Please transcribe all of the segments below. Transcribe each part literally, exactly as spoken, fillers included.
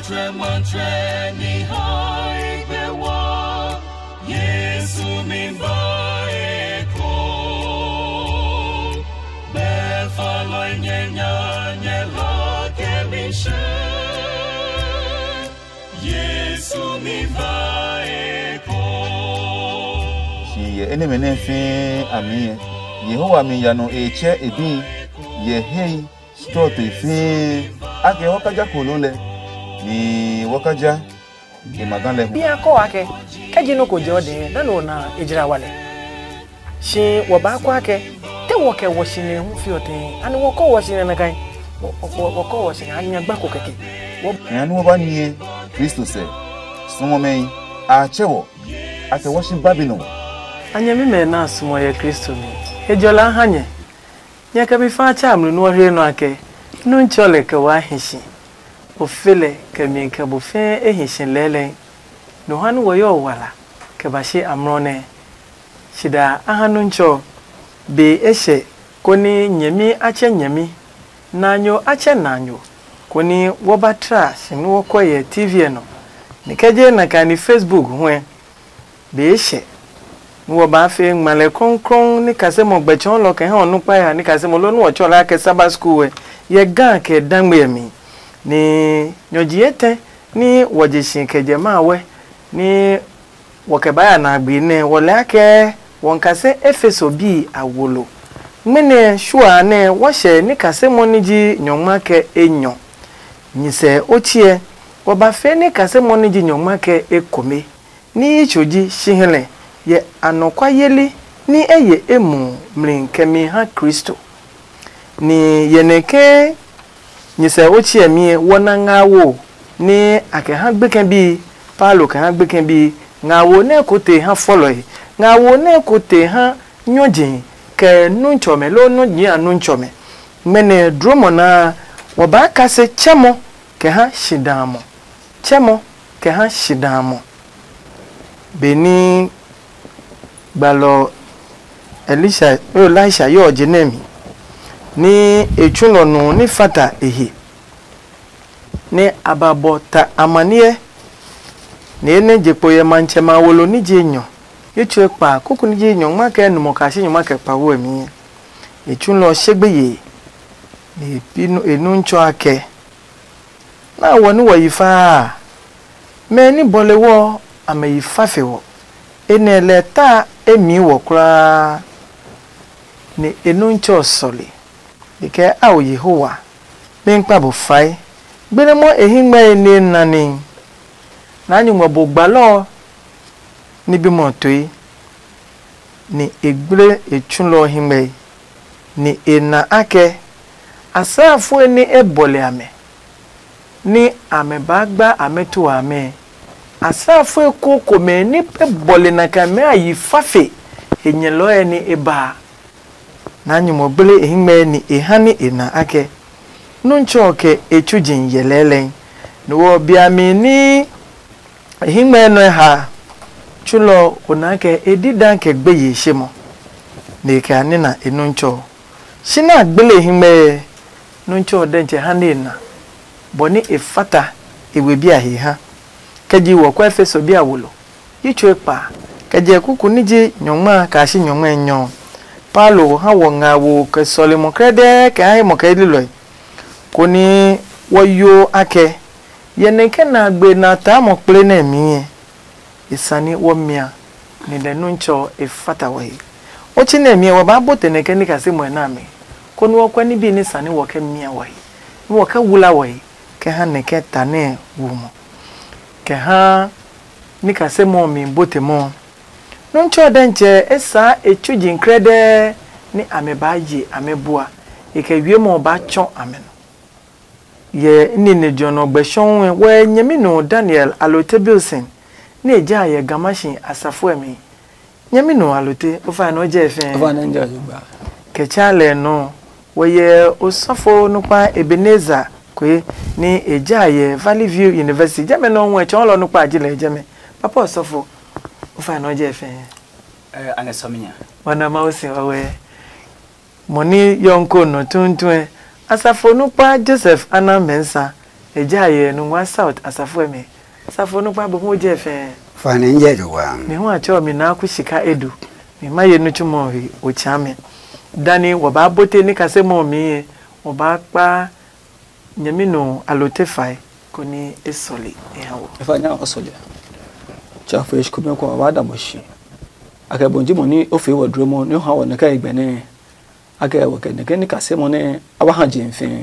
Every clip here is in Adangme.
Trɛmɔtrɛ ni hae gbɛ wa, Yesu mi ba eko. Gbɛ falɔi nyɛ nya nyɛ la kɛ mi hyɛ. Yesu mi ba eko. Shi yɛ enɛmɛ nɛ fɛɛ a mi ɛ, Yehowa mi ya nɔ e tsɛ e bi yɛ hei. Stɔɔtoi fĩi a kɛ wɔkaja kpolo lɛ, ni wɔkaja e ma ga lɛ hu. Bi a kɔ wa kɛ, kɛ ji nɔ ko jɛ o dɛ na nɔ na e jira wa lɛ. Shi wɔ ba kɔ akɛ, te wɔ kɛ wɔ shi nɛ hu fi ɔ tɛ, ani wɔ kɔ wɔ shi nɛ na kai? Wɔ kɔ wɔ shi nɛ a nya gba ko kɛkɛ. Wɔ nya ni wɔ ba nie Kristo sɛ. Sumɔ mɛ a tsɛ wɔ a kɛ wɔ shi Babilon. A nyɛmimɛ na sumɔ yɛ Kristo mi. He jɔlɛ a ha nyɛ. Nyɛ kɛ mi fa tsa amli nɛ ɔ he nɔ ake, nu ntsɔ lɛ kɛ waa hi si. O fe lɛ kɛ mi kɛ bo fɛɛ e hi si lɛɛlɛɛ. Nɔ ha nɛ wɔ yɔ wala kɛ ba shi amlɔ nɛ. Sida a ha nu ntsɔ be e hyɛ, koni nyɛmi a tsɛ nyɛmi, nanyo a tsɛ nanyo, koni wɔ ba tra si nɛ wɔ kɔ yɛ T V ɛ nɔ. Ni kɛ je na kani Facebook huɛ. Be e hyɛ nɛ wɔ baa fee ngmalɛ krɔngkrɔng ní kasemɔ gbɛ tsɔɔlɔ kɛ ha ɔ nukpa ya ní kasemɔ loo nɛ wɔ tsɔɔ lɛ akɛ Saba skul ɛ yɛ Ga kɛ dangme ɛ mi. Ni nyɔji etɛ ní wɔ je si kɛ jɛ ma wɛ ní wɔ kɛ baa ya na gbi nɛ wɔ lɛ akɛ wɔ kase Efeso bii a wo lo. Ngmɛnɛ shuaa nɛ wɔ hyɛ ní kasemɔ ní ji nyɔngma kɛ enyɔ. Nyisɛ o tsiɛ wɔ ba fee ní kasemɔ ní ji nyɔngma kɛ ekome. Ní yitso ji si hɛlɛ yɛ anɔkuayeli ní e ye e mu mli kɛmi ha Kristo. Ni yɛ nɛ ke nyisɛ o tsiɛmi ɛ wɔ na ngaawo ní a kɛ ha gbekɛ bii, Paulo kɛ ha gbekɛ bii, ngaawo nɛ ko te ha fɔlɔe, ngaawo nɛ ko te ha nyɔje kɛ nuntsɔmɛ loo nyɔji a nuntsɔmɛ. Ngmɛnɛ dromɔ naa wɔ baa kase tsɛmɔ kɛ ha shidaamɔ. Tsɛmɔ kɛ ha shidaamɔ. Benɛ gbalɔ Elisha, Elisha yɔɔ je nɛ mi, nɛ e tsu lɔ nu ní fata e he, nɛ a ba bɔ ta amaniɛ, nɛ e nɛ je kpo yɛ matsɛ ma wolo ní je nyɔ, yi tsuo kpa kuku ní ji nyɔngma kɛ numɔ kashi nyɔngma kɛ kpawo ɛ mi. E tsu lɔ she gbeye, nɛ e nu ntsɔ akɛ, na wɔ ní wɔ yi faa a, mɛ ní bɔle wɔ a mɛ yi fa fe wɔ. Enɛ lɛ ta e mii wɔ kulaa, nɛ e nuntsɛ ɔ sɔle. E kɛ ao Yehowa, mi kpa bo fae. Gbenɛ mɔ e hɛ ngmɛe nɛ e na nihi. Naa nyumu ɔ bo gbalɔ ɔ ní bimwɔ ɔ toe, nɛ e gble e tsulɔ ɔ hɛngmɛe, nɛ e na akɛ asraafoe nɛ e bɔle amɛ, nɛ amɛ baa gba amɛ to amɛ, asraafoe ko komɛ nɛ e bɔle nakai mɛ a yi fa fe he nyɛlɔɛ nɛ e ba a. Naa nyumu ɔ gble e hɛngmɛe nɛ e ha nɛ e na akɛ nuntsɔ ɔ kɛ e tsuji yɛ lɛɛlɛɛ. No ɔ biami ní e hɛngmɛe nɔ e ha tsulɔ ɔ, o na kɛ e dida kɛ gbeye she mɔ, nɛ e kɛ a nina e nuntsɔ ɔ. Shi nɛ a gbele e hɛngmɛe, nuntsɔ ɔ dɛntsɛ ha nɛ e na, bɔ nɛ e fata e we bi a he ha. Kɛ ji wɔ kɔ Efeso bi a wo lo, yi tso e kpa, kɛ jɛ kuku ní ji nyɔngma a kaa shi nyɔngma enyɔ ɔ. Paulo ha wɔ nga wo kɛ sɔlemɔ kɛdɛɛ kɛ ha he mɔ kɛ lilɔe, konɛ wɔ yo akɛ yɛ nɛ kɛ na gbe na taa mɔ kple nɛ mi ɛ, e sane wɔ mia, nɛ lɛ nuntsɔ ɔ e fata wɔ he. Otsi nɛ mi ɛ wɔ baa bote nɛ kɛ ní kasimɔe nɛ a mi, konɛ wɔ kɔ ní bi ní sane wɔ kɛ mia wɔ he, ní wɔ kɛ wula wɔ he, kɛ ha nɛ kɛ ta nɛ wu mɔ, kɛ ha ní kasimɔ ɔ mi bote mɔ ɔ. Nuntsɔ ɔ dɛntsɛ e saa e tsuji krɛdɛɛ ní amɛ baa ye amɛ bua, e kɛ wiemɔ ɔ baa tsɔ amɛ nɔ. Yɛ nine jɔ nɔ gbɛ shɔnwue wɛ nyɛmi nɔ Daniel alote Bilson, nɛ e ja yɛ gamashi asafo ɛ mi. Nyɛmi nɔ alote, o fa nɔ jɛ fɛ. Ova na nja yugba. Kɛ tsa lɛ nɔ, wɛ yɛ osɔfo nukpa Ebenezer kwe, ni e ja yɛ Valley View University. Jɛmɛ nɔ wɛ tsɔɔlɔ nukpa ji lɛ jɛmɛ. Papa osɔfo, o fa nɔ jɛ fɛ. Eh, ane sɔminya. Wana ma o sin wa wɛ. Mɔ ní yɔnko nɔ tuntun ɛ, asafo nukpa Joseph Anan Mensah, Ejaye nu ngua South asafo ɛ mi. Safo nu kpa bo mo je fɛ. Fani nje do wa. Mi hu a cho mi na ku shika edu. Mi ma ye nu chumo hi o cha mi. Dani wo ba bote ni kase mo mi ye. Wo ba kpa nyami no alote fai ko ni e sɔli e ha wo. Efa nya o sɔli. Cha fo eshi ko mi ko wa da mo shi. Akɛ bon ji mo ni o fe wo dro mo ni o ha wo ne ka igbe ne. Akɛ wɔ kɛ nɛkɛ nikasemɔ nɛ a ba ha je fɛɛ,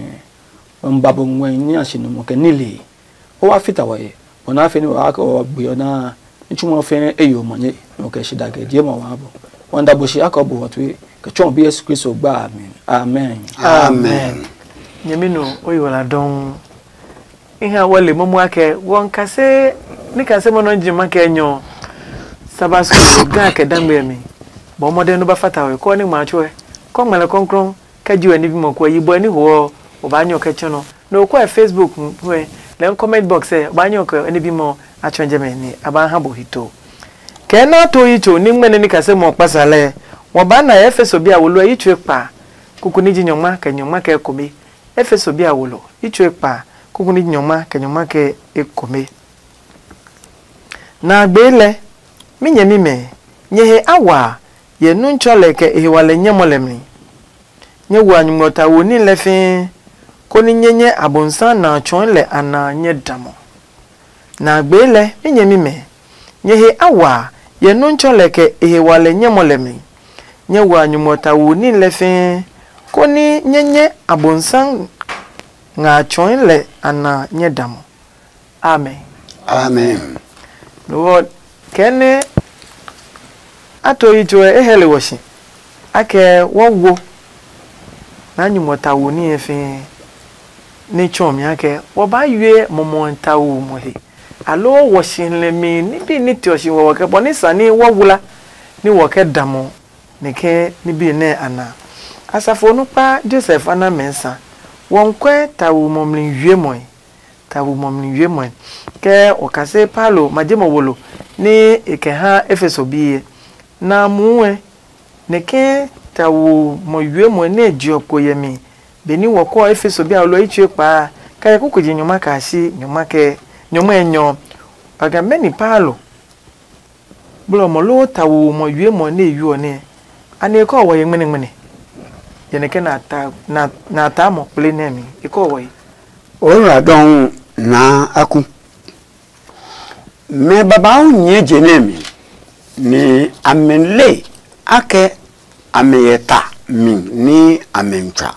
wɔ ba bo ngmɛ nya shi nɔ kɛ nile. O wa fita wɔ ye, bɔ na fe ni wa kɛ wɔ gbe ɔ na. Nitsumɔ fɛɛ e yo mɔ nye nɔ kɛ shi da kɛ die mɔ wa bo. Wɔ da bo shi akɔ bo wɔ tue kɛ tsɔ bi Yesu Kristo gba. Amen. Amen. Amen. Nyɛmi nɔ o yi wala dɔn. Iha wɔ le momo akɛ wɔ nkase nikasemɔ nɔ ji ma kɛ nyɔ. Saba so ga kɛ dangbe mi. Bɔ mɔdɛ no ba fata we kɔ ni ma chue. Kɔ ngmɛlɛ kɔnkrɔn kɛ ji we ni bimɔ kɔ yi bɔ ni ho. O ba nyɔ kɛ chɔnɔ. No kɔ Facebook we lɛ comment box ɛ o ba nyɔ kɛ ni bimɔ a chɔn jɛ mɛ ni a ba ha bo hito. Kɛ na to yi cho ni ngmɛne nikasemɔ kpasa lɛ. Wɔ ba na Efeso bia wo lo yi chue kpa. Kuku ni ji nyɔngma kɛ nyɔngma kɛ kome. Efeso bi a wolo, i tsue kpa, kuku ni nyɔngma kɛ nyɔngma kɛ ekome. Na a gbee lɛ, mi nyɛmimɛ, nyɛ he a wa a, yɛ nu tsɔ lɛ kɛ e he wa lɛ nyɛ mɔ lɛ mi. Nyɛ wo a nyumu ɔ ta wo ní lɛ fɛɛ, koni nyɛ nyɛ Abonsam na a tsɔɔe lɛ a na a nyɛ damɔ. Na a gbee lɛ, mi nyɛmimɛ, nyɛ he a wa a, yɛ nu tsɔ lɛ kɛ e he wa lɛ nyɛ mɔ lɛ mi. Nyɛ wo a nyumu ɔ ta wo ní lɛ fɛɛ, koni nyɛ nyɛ Abonsam ngɛ a tsɔɔe lɛ a na nyɛ damɔ. Amen. Amen. Lo ɔ, kɛ nɛ a to yi tsoe e hɛle wɔ si, akɛ wɔ wo na nyumu ɔ ta wo ní ɛ fɛɛ, ní tsɔ mi akɛ wɔ ba yue mɔmɔ ta wo mɔ he. Aloo wɔ si hlɛmi ní bi ní te ɔ si wɔ wɔ kɛ bɔ ní sani wɔ wula ní wɔ kɛ damɔ. Nɛkɛ ní bi nɛ a na. Asafo nukpa Joseph ana mɛnsa wɔnkwɛ tawu mɔmli wiemɔe. Tawu mɔmli wiemɔe. Kɛ okase Paulo ma je mɔ wolo ní e kɛ ha Efeso biɛ. Na muue nɛkɛ tawu mɔ wiemɔe nɛ je ɔ kpo yɛ mi. Benɛ wɔ kɔ Efeso bi a lɔ yi tsue kpaa kɛ yɛ kuku je nyɔma kaa si nyɔma kɛ nyɔma enyɔ. Wa ga mɛni Paulo blɔ mɔ loo tawu mɔ yue mɔ nɛ e yu ɔ nɛ? Anɛ e kɔ wɔ ye ngmɛnɛngmɛnɛ? Yɛ nɛ kɛ na ta na na ta mɔ kple nɛ mi e kɔ wɔ ye. O ra dɔn na aku. Mɛ babauu nyɛɛ je nɛ mi, nɛ a mɛ le akɛ a mɛ yɛ ta mi ní a mɛ ntswa.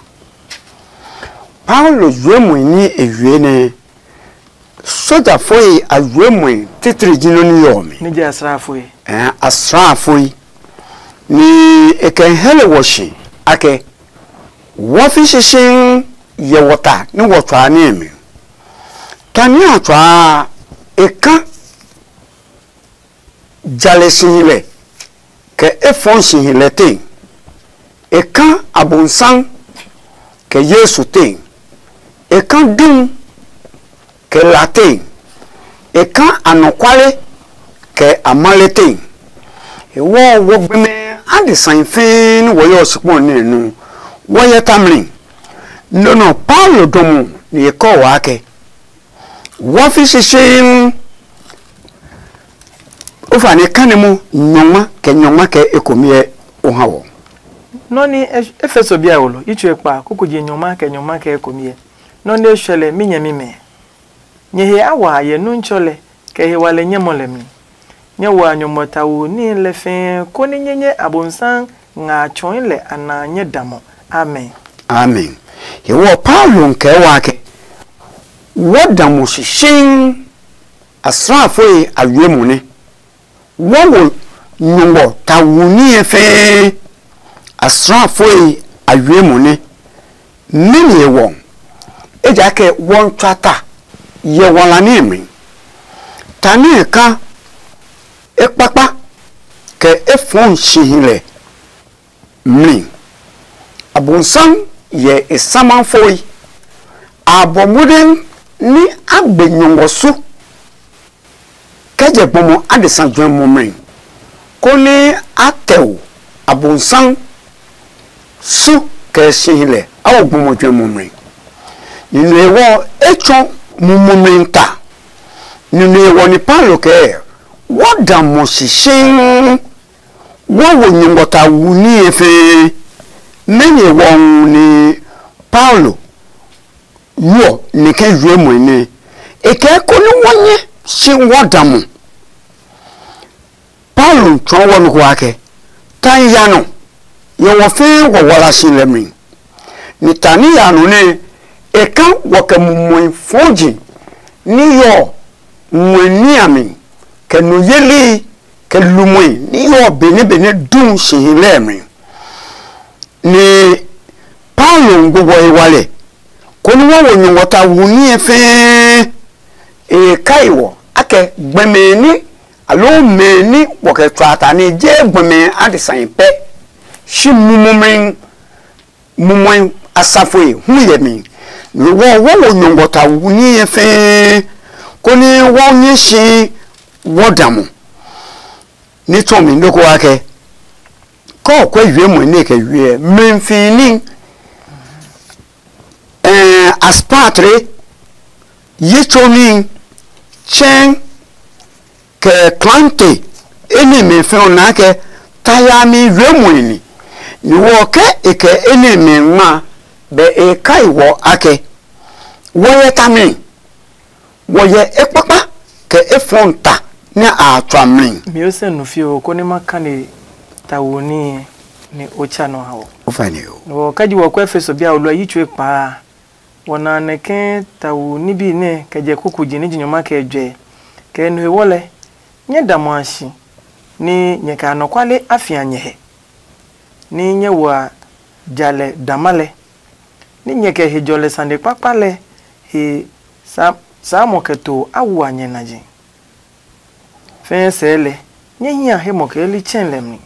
Paulo juɛmɔe ní e yue nɛ soja foe a juɛmɔe titri ji nɔ ní yɔ mi. Ní jɛ asraafoe. Ɛɛ asraafoe. Ni e kɛ hɛlɛ wɔ shi akɛ wɔ fi shishin yɛ wɔ ta ní wɔ tswaa ní mi. Ta ní a tswaa e ka jalɛ sihilɛ kɛ efɔŋ sihilɛ te. E ka abonsam kɛ Yesu te. E ka dum kɛ la te. E ka anɔkwale kɛ amale te. E wɔ wo gbɛmɛ adesai fɛɛ ni wɔ yɔ sikpɔn nɛ nu wɔ yɛ tamli. Nɔ nɔ Paulo dɔmɔ ni e kɔ waa kɛ wɔ fi shishin. O fa ne kane mo nyɔngma kɛ nyɔngma kɛ ekomiɛ o ha wɔ. Nɔ ni Efeso bia wolo yi tsue kpa kuku je nyɔngma kɛ nyɔngma kɛ ekomiɛ. Nɔ ni e shwɛlɛ mi nyɛmi mɛ. Nyɛ he a wa yɛ nu ntsɔ lɛ kɛ he wa lɛ nyɛ mɔ lɛ mi. Nyɛ wa nyɔngmɔ ta wo ní lɛ fɛɛ koni nyɛ nyɛ abonsam nga a tsɔɔe lɛ a na nyɛ damɔ. Amen. Amen. Hewɔ Paulo nkɛɛ wa ke wɔ damɔ shishiŋ. Asraafoe a wie mo nɛ wɔ wo nyɔngmɔ ta wu ní ɛ fɛɛ. Asraafoe a wie mo nɛ mɛni e wɔ ejaakɛ wɔ ntsua ta yɛ wala ní ɛ mi. Ta ní ɛ ka e kpakpa kɛ e fɔɔ si hi lɛ mli. Abonsam yɛ e sama foi. A bɔ modɛn ní a gbe nyɔngɔ su kɛ jɛ gbɔmɔ adesa juɛmɔ mli, konɛ a tɛo abonsam su kɛ si hi lɛ a wo gbɔmɔ juɛmɔ mli. Nine ɔ e tsɔ mumumi ta. Nine ɔ ni Paulo kɛɛ, wɔ da mo shishiŋ, wɔ wo nyɔngmɔ ta wu níhi fɛɛ. Mɛni ɔ ni Paulo yuɔ ni kɛ yue mɔe nɛ? E kɛɛ konɛ wɔ nyɛ si wɔ da mo. Paulo tsɔɔ wɔ nɔ ko akɛ, ta ya nɔ, yɛ wɔ fɛɛ wɔ wala si lɛ mi. Ni ta ní ya nɔ nɛ e ka wɔ kɛ mumɔi fɔji ní yɔ ngmɛ ní a mi, kɛ nu yeli kɛ lumɔi ní yɔ benɛ benɛ du si hi lɛ mi. Ni Paulo ngugɔ e wa lɛ, konɛ wɔ wo nyɔngmɔ ta wu ní ɛ fɛɛ. E kai wɔ akɛ gbɛmɛ ní aloo mɛ ní wɔ kɛ tsɔ a ta ní je gbɛmɛ adesai pɛ, shi mumɔmɛ mumɔi asafoi hu yɛ mi. Ni wɔ wɔ wo nyɔngmɔ ta wu ní ɛ fɛɛ, konɛ wɔ nyɛ si wɔ da mo. Ní tsɔ mi noko akɛ kɔ kɔ yue mo ne kɛ yue mɛ fi ní. Ɛɛ, aspatre, yi tsomi, tsɛn, kɛ klante, eni mɛ fɛ̃ ɔ naa kɛ ta yami yue muɛ ni. Ni wɔ kɛ e kɛ eni mɛ ngma, bɛ e kai wɔ akɛ, wɔ yɛ tami, wɔ yɛ ekpakpa kɛ efɔnta nɛ a tswa mli. Mi o sɛ nu fie o, konɛ ma kane ta wo ní nɛ o tsa nɔ ha o. O fa ni o. Wɔ kaji wɔ kɔ Efeso bia o lɔ yi tsue kpaa. Wɔ na nɛ ke ta wo ní bi nɛ kɛ jɛ kuku ji ní ji nyɔma kɛ jwɛ. Kɛ no he wɔ lɛ, nyɛ da mo a shi, ní nyɛ kɛ anɔkuale a fia nyɛ hɛ, ní nyɛ wa jalɛ dama lɛ, ní nyɛ kɛ hejɔlɛ sane kpakpa lɛ he sa- saamɔ kɛ to a wua nyɛ naji. Fɛɛ sɛɛ lɛ, nyɛ hia he mɔ kɛ li tsɛn lɛ mi,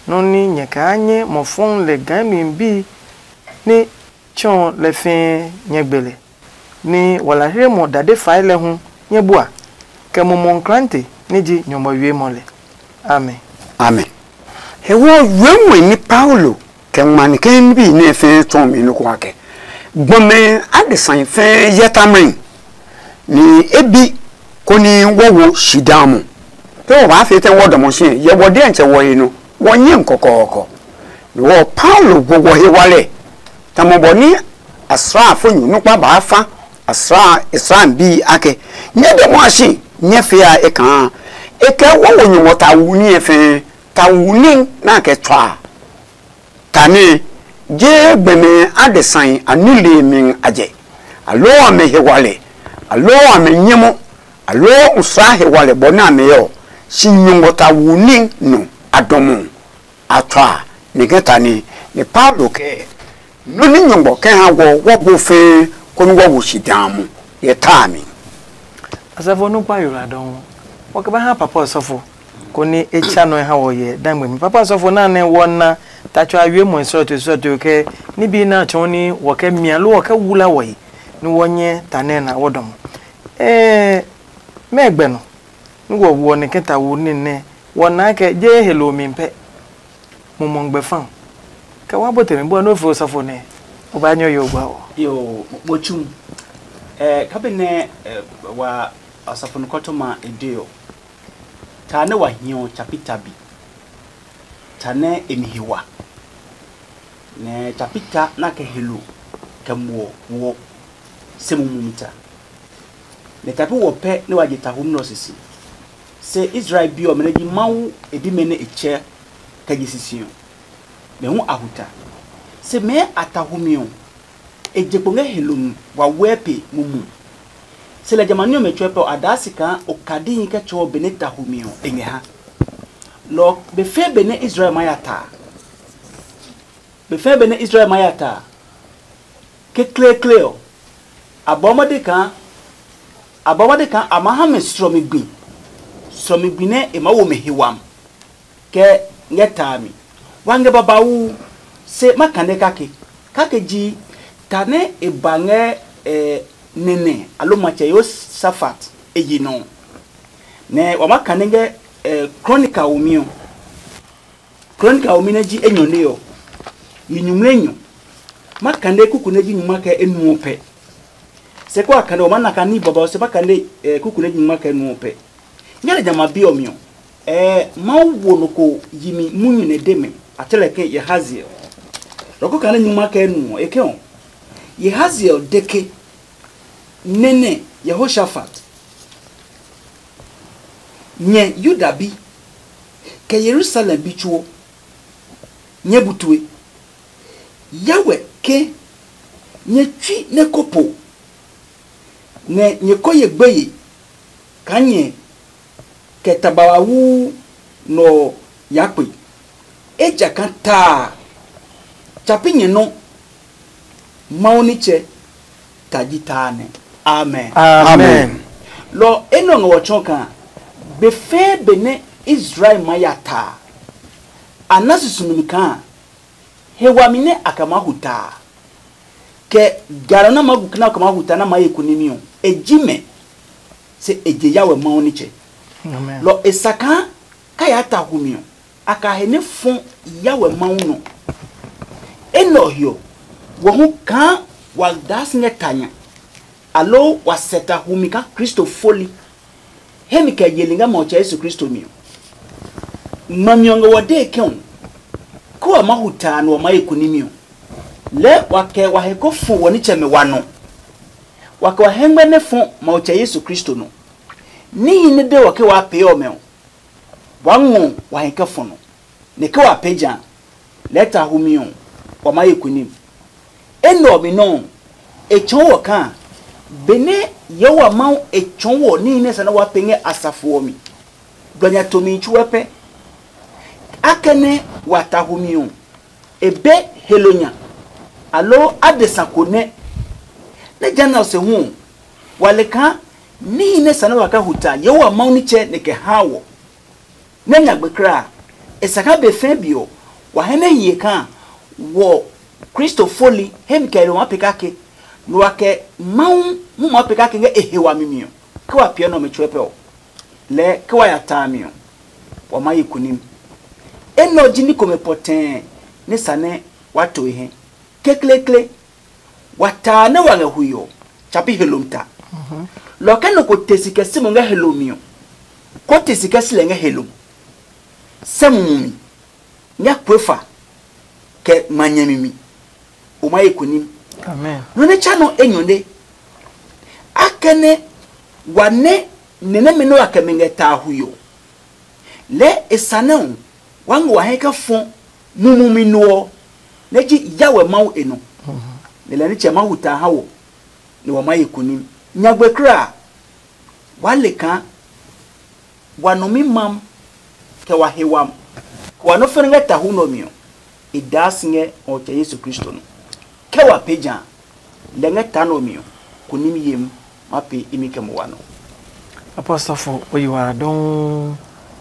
nɔ́ ní nyɛ kaa nyɛ mɔ fɔŋ lɛ gaa mi bi nɛ tsɔ lɛ fɛɛ nyɛ gbe lɛ, ní walahirimɔ dade fae lɛ hu nyɛ bua, kɛ mumɔ nklante nɛ ji nyɔmɔ wiemɔ lɛ. Amen. Amen. He wɔ yuɛmɛ ní Paulo kɛ ngma ni kɛ níbi nɛ fɛɛ tsɔɔ mi nɔ́ ko akɛ gbɔmɛ adesã fɛɛ yɛ tamɛ, ni e bi koni wɔ wo shi daa mo. Ke wɔ baa fee tɛ wɔ dɔmɔ si yɛ wɔ diɛntsɛ wɔ he nɔ wɔ nyɛ kɔkɔɔkɔ. Ni wɔ Paulo wo wɔ he walɛ tamɔ bɔ ni asraafonyu nukpa baa fa asraa israel bi akɛ, nyɛ dɔmɔ a si nyɛ fia e kaa e kɛ wɔ wo nyɔmɔ ta wu ní e fɛɛ ta wu ní na kɛ tswa. Tane, je gbɛmɛ adesai a nilee mi a jɛ, aloo amɛ he walɛ, aloo amɛ nyɛmɔ, aloo usaa he walɛ bɔ nɛ amɛ ɔ, si nyɔngɔ ta wu ní nɔ a dɔmɔ a tswa. Ni kɛ tane, ni Paulo kɛɛ, nɔ ní nyɔngɔ kɛ ha wɔ wɔ gbo fɛɛ konɛ wɔ wo shi daa mo yɛ taa mi. Asafo nukpa yola dɔn, wɔ kɛ ba ha papa ɔsɔfo koni e tsa nɔ ha wɔ yɛ dangbe mi. Papa ɔsɔfo na nɛ wɔ na ta tsɔ a wie mɔ srɔto srɔto kɛ ni bi na tsɔ ni wɔ kɛ mia lo wɔ kɛ wula wɔ yi ni wɔ nyɛ ta nɛ na wɔ dɔm. Eh, mɛ gbɛ no. Ni wɔ wɔ ne kɛ ta wo ni nɛ wɔ na kɛ je he lo mi pɛ. Mo mɔ gbɛ fa. Kɛ wa bo te mi bɔ no fo ɔsɔfo nɛ o ba nyɔ yo gba o. Yo, mo tsu. Eh, kabi nɛ eh, wa ɔsɔfo nukɔtɔma e de ɔ, ta nɛ wa hiɔ chapita bi, ta nɛ e mi he wa, nɛ chapita na kɛ helo kɛ muɔ woɔ se mumi ta. Nɛ tapi wɔ pɛ nɛ wa je tahumi nɛ ɔ sisi. Se Israel bi ɔmɛ nɛ ji Mawu e bimɛ nɛ e tsɛ kɛ je sisi ɔ, mɛ hu a hu ta. Se mɛɛ a tahumi ɔ, e je kpo ngɛ helo mi wawɛɛ pe mumu. Se lɛ jamɛ a ní ɔmɛ tsuɛ pɛ ɔ, a daa si kaa okadihi kɛ tsɔɔ benɛ tahumi ɔ e ngɛ ha. Lɔ ɔ, be fɛɛ benɛ Israel ma ya ta a, be fɛɛ benɛ Israel ma ya ta a, kekleekle ɔ, a bɔɔ mɔde kaa a bɔɔ mɔde kaa a maa ha mɛ srɔmi gbi, srɔmi gbi nɛ e maa wo mɛ he wami kɛ ngɛ taa mi. Wa ngɛ babauu, se ma kane kake. Kake ji ta nɛ e ba ngɛ eh, nɛnɛ alo matsɛ Yosafat e yi nɔ ɔ. Nɛ wa ma kane ngɛ eh, Kronika womi ɔ. Kronika womi nɛ ji enyɔ nɛ ɔ, yi nyumu enyɔ. Ma kane kuku nɛ ji nyuma kɛ enu ɔ pɛ. Se kó a kane o ma na kaa ní babauu se ma kane, eh, kuku nɛ nyingma kɛ nu ɔ pɛ. Ngɛ lɛ jamɛ a bi ɔ mi ɔ, eh, Mawu wo nɔ ko yi mi munyu nɛ de mɛ, a tsɛ lɛ ke Yehaziel. Lɔ ko kane nyingma kɛ nu ɔ, e ke ɔ, Yehaziel de ke, nɛnɛ Yehoshafat, nyɛ Yuda bi, kɛ Yerusalem bi tsuo, nyɛ bu tue. Yawɛ ke, nyɛ tsui nɛ ko po, nɛ nyɛ ko ye gbeye kaa nyɛ kɛ ta babauu nɔ ɔ ya kpe. Ejakaa ta a, tsa pi nyɛ nɔ́, Mawu nitsɛ ta ji ta a nɛ. Amen. Amen. Lɔ enɛ ɔ ngɛ wɔ tsɔɔ kaa be fɛɛ be nɛ Israel ma ya ta a, a na susumi kaa he wami nɛ a kɛ maa hu ta a, kɛ ga nɔ nɛ a maa gu kɛ nɛ a kɛ maa hu ta nɛ a maa ye kunimi ɔ, e ji mɛ, se e je Yahweh Mawu nitsɛ. Lɔ e sa kaa ka yaa ta humi ɔ, a ka he nɛ fɔ Yahweh Mawu nɔ. Enɛ ɔ he ɔ, wɔ hu kaa wa daa si ngɛ ta nya, aloo wa sɛ ta humi kaa Kristo foli, hemi kɛ yeli ngɛ Mawu tsɛ Yesu Kristo mi ɔ. Ngmami ɔ ngɛ wɔ dee ke ɔ, ke wa ma hu ta a nɛ wa maa ye kunimi ɔ, lɛɛ wa kɛ wa he ko fɔ wɔ nitsɛmɛ wa nɔ. Wa kɛ wa hɛngmɛ nɛ fɔ Mawu tsɛ Yesu Kristo nɔ. Níhi nɛ de wɔ ke waa pee ɔmɛ ɔ, waa ngɔ wa hi kɛ fɔ nɔ, nɛ ke wa pee ja a, lɛɛ ta humi ɔ, wa maa ye kunim. Enɛ ɔ mi nɔuu, e tsɔɔ wɔ kaa benɛ Yehowa Mawu e tsɔɔ wɔ níhi nɛ sa nɛ waa pee ngɛ asafo ɔ mi, blɔ nya tomihi tsuɛ pɛ. Akɛnɛ wa ta humi ɔ, e be helo nya, aloo adesa ko nɛ. Nɛ jehanɛ ɔ se hu ɔ, wa le kaa níhi nɛ sa nɛ wa kɛ hu ta Yehowa Mawu nitsɛ nɛ kɛ haa wɔ. Nɛ nyagbe kulaa, e sa kaa be fɛɛ be ɔ, wa hɛ nɛ hiye kaa wɔ Kristo foli hemi kɛ maa pee kake, nɛ wa kɛ Mawu hu maa pee kake ngɛ e he wami mi ɔ, ke wa piɛ nɛ ɔmɛ tsuɛ pɛ ɔ, lɛɛ ke wa ya ta a mi ɔ, wa maa ye kunim. Enɛ ɔ ji ní komɛ pɔtɛɛ nɛ sa nɛ wa to e hɛ. Kekleekle, wa taa nɛ wa ngɛ hui ɔ, tsa pi helom ta. Lɔ kɛ nɔ ko te si kɛ si mo ngɛ helom mi ɔ, ko te si kɛ si lɛ ngɛ helom. Sɛ mumi mi, ngɛ kue fa kɛ ma nyɛmi mi, o ma ye kunim. Nɔ nɛ tsa nɔ enyɔ ne, akɛnɛ wa nɛ nɛ nɛmɛ nɛ wa kɛ mi ngɛ taa hui ɔ, lɛɛ e sa nɛ ɔ, wa ngɛ wa hɛ kɛ fɔ mumi mi no ɔ, nɛ ji Yahweh Mawu e nɔ. Nɛ lɛ nitsɛ Mawu ta ha wɔ, nɛ wa ma ye kunim. Nyagbe kulaa, waa le kaa wa nɔ mi mam, kɛ wa he wam, kɛ wa nɔ́ fɛnɛ ngɛ tahu nɛ ɔ mi ɔ, e daa si ngɛ Mawu tsɛ Yesu Kristo nɔ. Kɛ wa pee ja a, lɛ ngɛ ta nɛ ɔ mi ɔ, kunim yem ma pee imi kɛ mo wa nɔ. Apɔstɔfo, o yi wala dɔuu.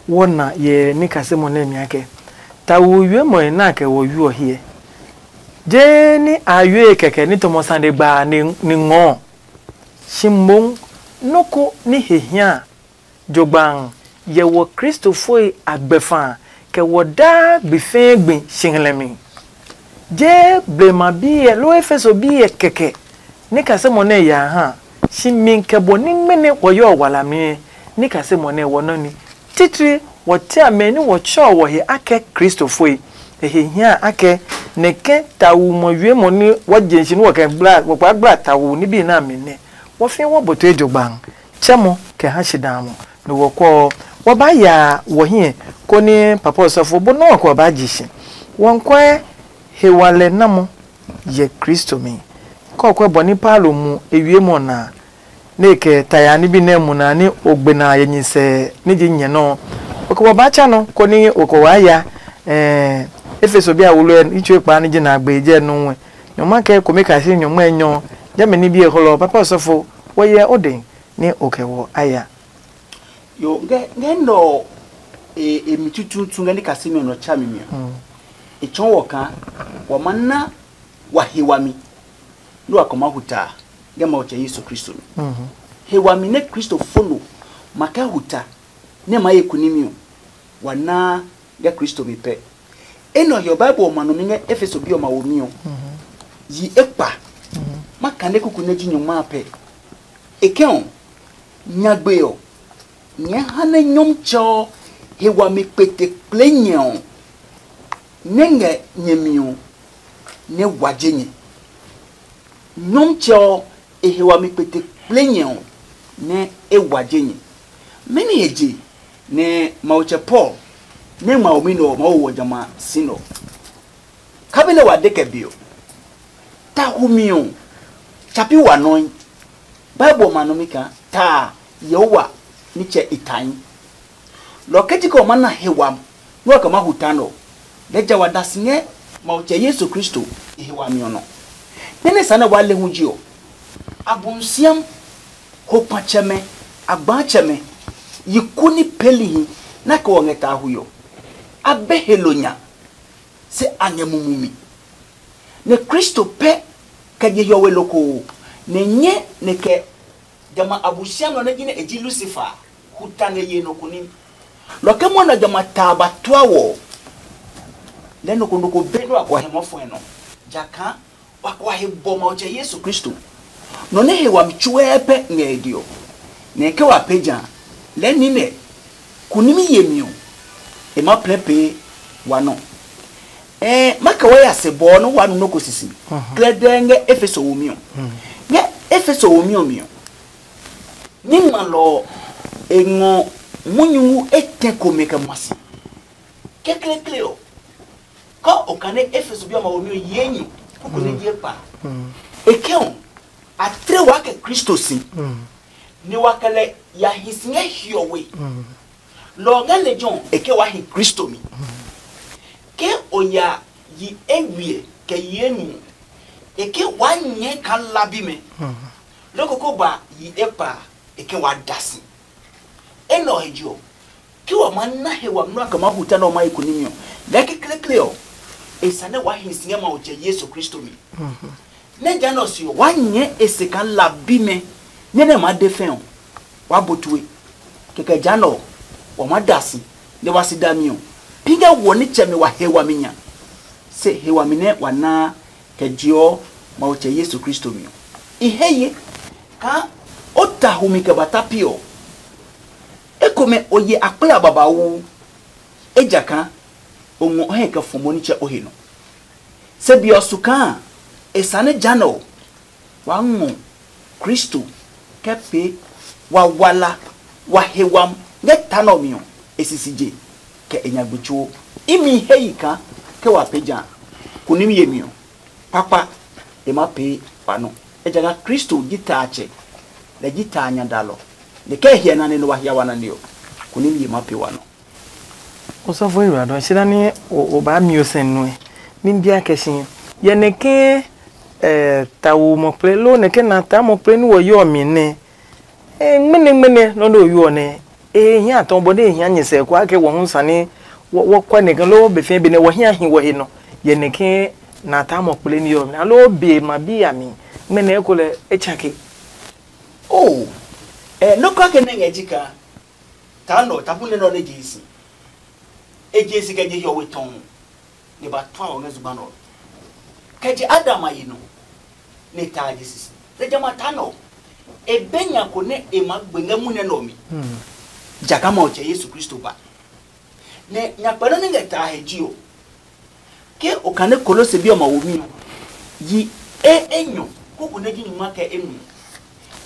Wɔ na yɛ ní kasemɔ nɛ mi akɛ, tawu wiemɔe nɛ a kɛ wɔ yu ɔ hiɛ. Jeee ní a yue kɛkɛ ní tɔmɔ sane gba a ni ngɔɔ, shi moŋ nɔ́ ko ní he hia a, jogbaŋ yɛ wɔ Kristofoi a gbɛfa a, kɛ wɔ daa gbi fɛɛ gbi si ngmlɛmi. Jee blema biɛ loo Efeso biɛ kɛkɛ ní kasemɔ nɛ ya a ha, si mi kɛ bɔ ní mɛnɛ wɔ yɔɔ walami ɛ, ní kasemɔ nɛ wɔ nɔ́ ní. Titri wɔ tia mɛ ní wɔ tsɛɔ wɔ he akɛ Kristofoi. E he hia akɛ nɛ ke tawu mɔ wiemɔ ní wɔ je si ní wɔ kɛ gbla, wɔ kpa gbla tawu ní bi na mi nɛ wɔ fi wɔ boto ejogbaŋ. Tsɛmɔ kɛ ha shi daa mɔ, nɛ wɔ kɔ ɔ, wɔ ba ya wɔ hiɛ, koni papa ɔsɔfo bó nɔ́ ɔ kɛ wɔ ba ji si. Wɔ nkɔɛ he wa lɛ namɔ yɛ Kristo mi. Kɔɔkuɛ bɔ ní Paulo mu e wiemɔ ɔ na a, nɛ e kɛ ta ya ní bi nɛ mu na ní o gbe na a yɛ nyisɛ ní ji nyɛ nɔ́ ɔ, o kɛ wɔ baa tsa nɔ, koni o kɛ waa ya, ɛɛ, Efeso bi a wolo ɛ, i tsue kpaa ní ji na a gbe jɛ nɔ́ ɔ. Nyɔngma kɛ kome kase nyɔngma enyɔ, jɛmɛ ní bi e hlɔ, papa ɔsɔfo, wɔ yɛ o dɛ ní o kɛ wɔ a ya. Yo, ngɛ ngɛ nɔ e e mi tutuutu ngɛ ní kasimi ɔ nɔ tsa mi mi ɔ. E tsɔɔ wɔ kaa wa ma na wa he wami nɛ wa kɔ ma hu ta ngɛ Mawu tsɛ Yesu Kristo mi. He wami nɛ Kristo fo no ma kɛ hu ta nɛ ma ye kunimi ɔ, wa naa ngɛ Kristo mi pɛ. Enɛ ɔ he ɔ, Bible ɔ ma nɔ mi ngɛ Efeso bi ɔmɛ a womi ɔ. Yi ekpa. Ma kane kuku nɛ ji nyɔngma a pɛ. E kɛ ɔ, nyagbe ɔ, nyɛɛ ha nɛ Nyɔmtsɛ ɔ he wami kpete kple nyɛ ɔ, nɛ ngɛ nyɛ mi ɔ, nɛ wa je nyɛ. Nyɔmtsɛ ɔ, e he wami kpete kple nyɛ ɔ, nɛ e wa je nyɛ. Mɛni he je nɛ Mawutsɛ Paul nɛ ngma omi nɛ ɔ maa wo wɔ jamɛ a si nɛ ɔ? Kabi nɛ wa de kɛ be ɔ, ta humi ɔ, tsa pi wa nɔe. Bible ɔ ma nɔ mi kaa ta a, Yehowa nitsɛ e tae. Lɔ kɛ ji kɛ o ma na he wami nɛ wa kɛ ma hu ta nɛ ɔ, lɛɛ ja wa da si ngɛ Mawu tsɛ Yesu Kristo e he wami ɔ nɔ. Nɛ nɛ sa nɛ waa le hu ji ɔ, Abosiam, ho kpatsɛmɛ, agbaatsɛmɛ, yi ku ní peelihi nɛ a kɛ wɔ ngɛ ta hui ɔ, a be he lo nya, se a ngɛ mumi mi. Nɛ Kristo pɛ kɛ je hiɔwe lokoo, nɛ nyɛ nɛ kɛ jamɛ a Abosiami ɔ nɛ ji nɛ e ji Lusifa a, hu ta ngɛ ye nɔ ko ní. Lɔ ke mwɔnɛ jamɛ a ta a ba tua wɔ ɔ, lɛɛ nɔ ko nɔ ko be nɛ wa kɔ hɛ mɔfɔɛ nɔ, jakaa wa kɔ he bɔ Mawu tsɛ Yesu Kristo, nɔ nɛ he wami tsuɛɛ pɛ ngɛ e diɔ, nɛ ke wa pee ja lɛɛ ní nɛ kunimi yemi ɔ, e ma plɛ pee wa nɔ. Ɛɛ, ma kɛ wa ya se bɔɔ nɛ wa nu nɔ́ ko sisi. Klɛdɛɛ ngɛ Efeso womi ɔ. Ngɛ Efeso womi ɔ mi ɔ, ní ngmalɔ ɔ, e ngɔ munyu etɛ komɛ kɛ ma si. Kekleekle ɔ, kɔ o kane Efeso bi ɔmɛ womi ɔ yee nyi kuku nɛ je kpa. E ke ɔ, a tle wa kɛ Kristo si, nɛ wa kɛ lɛ ya hi si ngɛ hiɔwe. Lɔ ɔ ngɛ lejɛ ɔ e ke waa hi Kristo mi. Ke o ya yi eywiɛ kɛ yi enu ɔ, e ke waa nyɛɛ kaa la bimɛ. Loko ko ba yi ekpa a, e ke waa da si. Enɛ ɔ he je ɔ, ke wa maa na he wami nɛ wa kɛ maa hu ta nɛ wa maa yi kunimi ɔ, ngɛ kekleekle ɔ, e sane waa hi si ngɛ Mawu tsɛ Yesu Kristo mi. Nɛ jehanɛ ɔ se ɔ, waa nyɛɛ e se kaa la bimɛ, nɛ nɛ maa de fɛ ɔ, waa bo tue. Kɛkɛ jehanɛ ɔ, wa maa da si, nɛ wa si dami ɔ, pi ngɛ wɔ nitsɛmɛ wa he wami nya, se he wami nɛ wa naa kɛ jeɔ Mawu tsɛ Yesu Kristo mi ɔ. I he ye kaa o ta humi kɛ ba ta pi ɔ, ekomɛ o ye akpla babauu, ejakaa o ngɔ o hɛ kɛ fɔ mo nitsɛ o he nɔ. Se be ɔ su kaa e sane jehanɛ ɔ, waa ngɔ Kristo kɛ pee wawala wa he wami ngɛ ta nɛ ɔ mi ɔ, e sisi je, kɛ e nyagbe tsuo. Imi he yi kaa ke wa pee ja a, kunimi yemi ɔ, kpakpa e maa pee wa nɔ. Ejakaa Kristo ji Tatsɛ, lɛ ji ta a nya dalɔ, nɛ kɛ e hyɛ nane nɛ wa hia wa nane ɔ, kunimi ye maa pee wa nɔ. Osɔfo Ewuradɔ, si na ni o o baa mi o sɛn nue. Mi bia kɛ si, yɛ nɛ ke eh tawo mɔ kple lo nɛ ke na ta mɔ kple ni wɔ yɔ mi nɛ. Eh, ngmene ngmene nɔ do yɔ nɛ. Eh, hia tɔ bɔ de hia nyɛ sɛ kwa ke wɔ hu sane wɔ kwɛ nɛ ke lo be fɛ be nɛ wɔ hia hi wɔ he nɔ. Yɛ nɛ ke na ta mɔ kple ni yɔ mi. Alo be ma bi ya mi. Ngmene ko lɛ e tsake. Oh, eh, no kwa ke ne ngɛ jika. Ta nɔ, ta bu nɛ nɔ ne je si. E je si kɛ je hiɔwe tɔn. Ne ba twa ɔ ngɛ zugba nɔ. Kɛ je Adam a yi nɔ. Ne ta je sisi. Se jama ta nɔ. E be nya ko ne e ma gbe ngɛ mu nɛ nɔ mi. Jaka ma ɔ tsɛ Yesu Kristo ba. Nɛ nyakpɛ nɔ ne ngɛ ta he ji ɔ. Ke o kane Kolose bi ɔmɛ womi ɔ, yi e enyɔ kuku nɛ ji nyuma kɛ enu.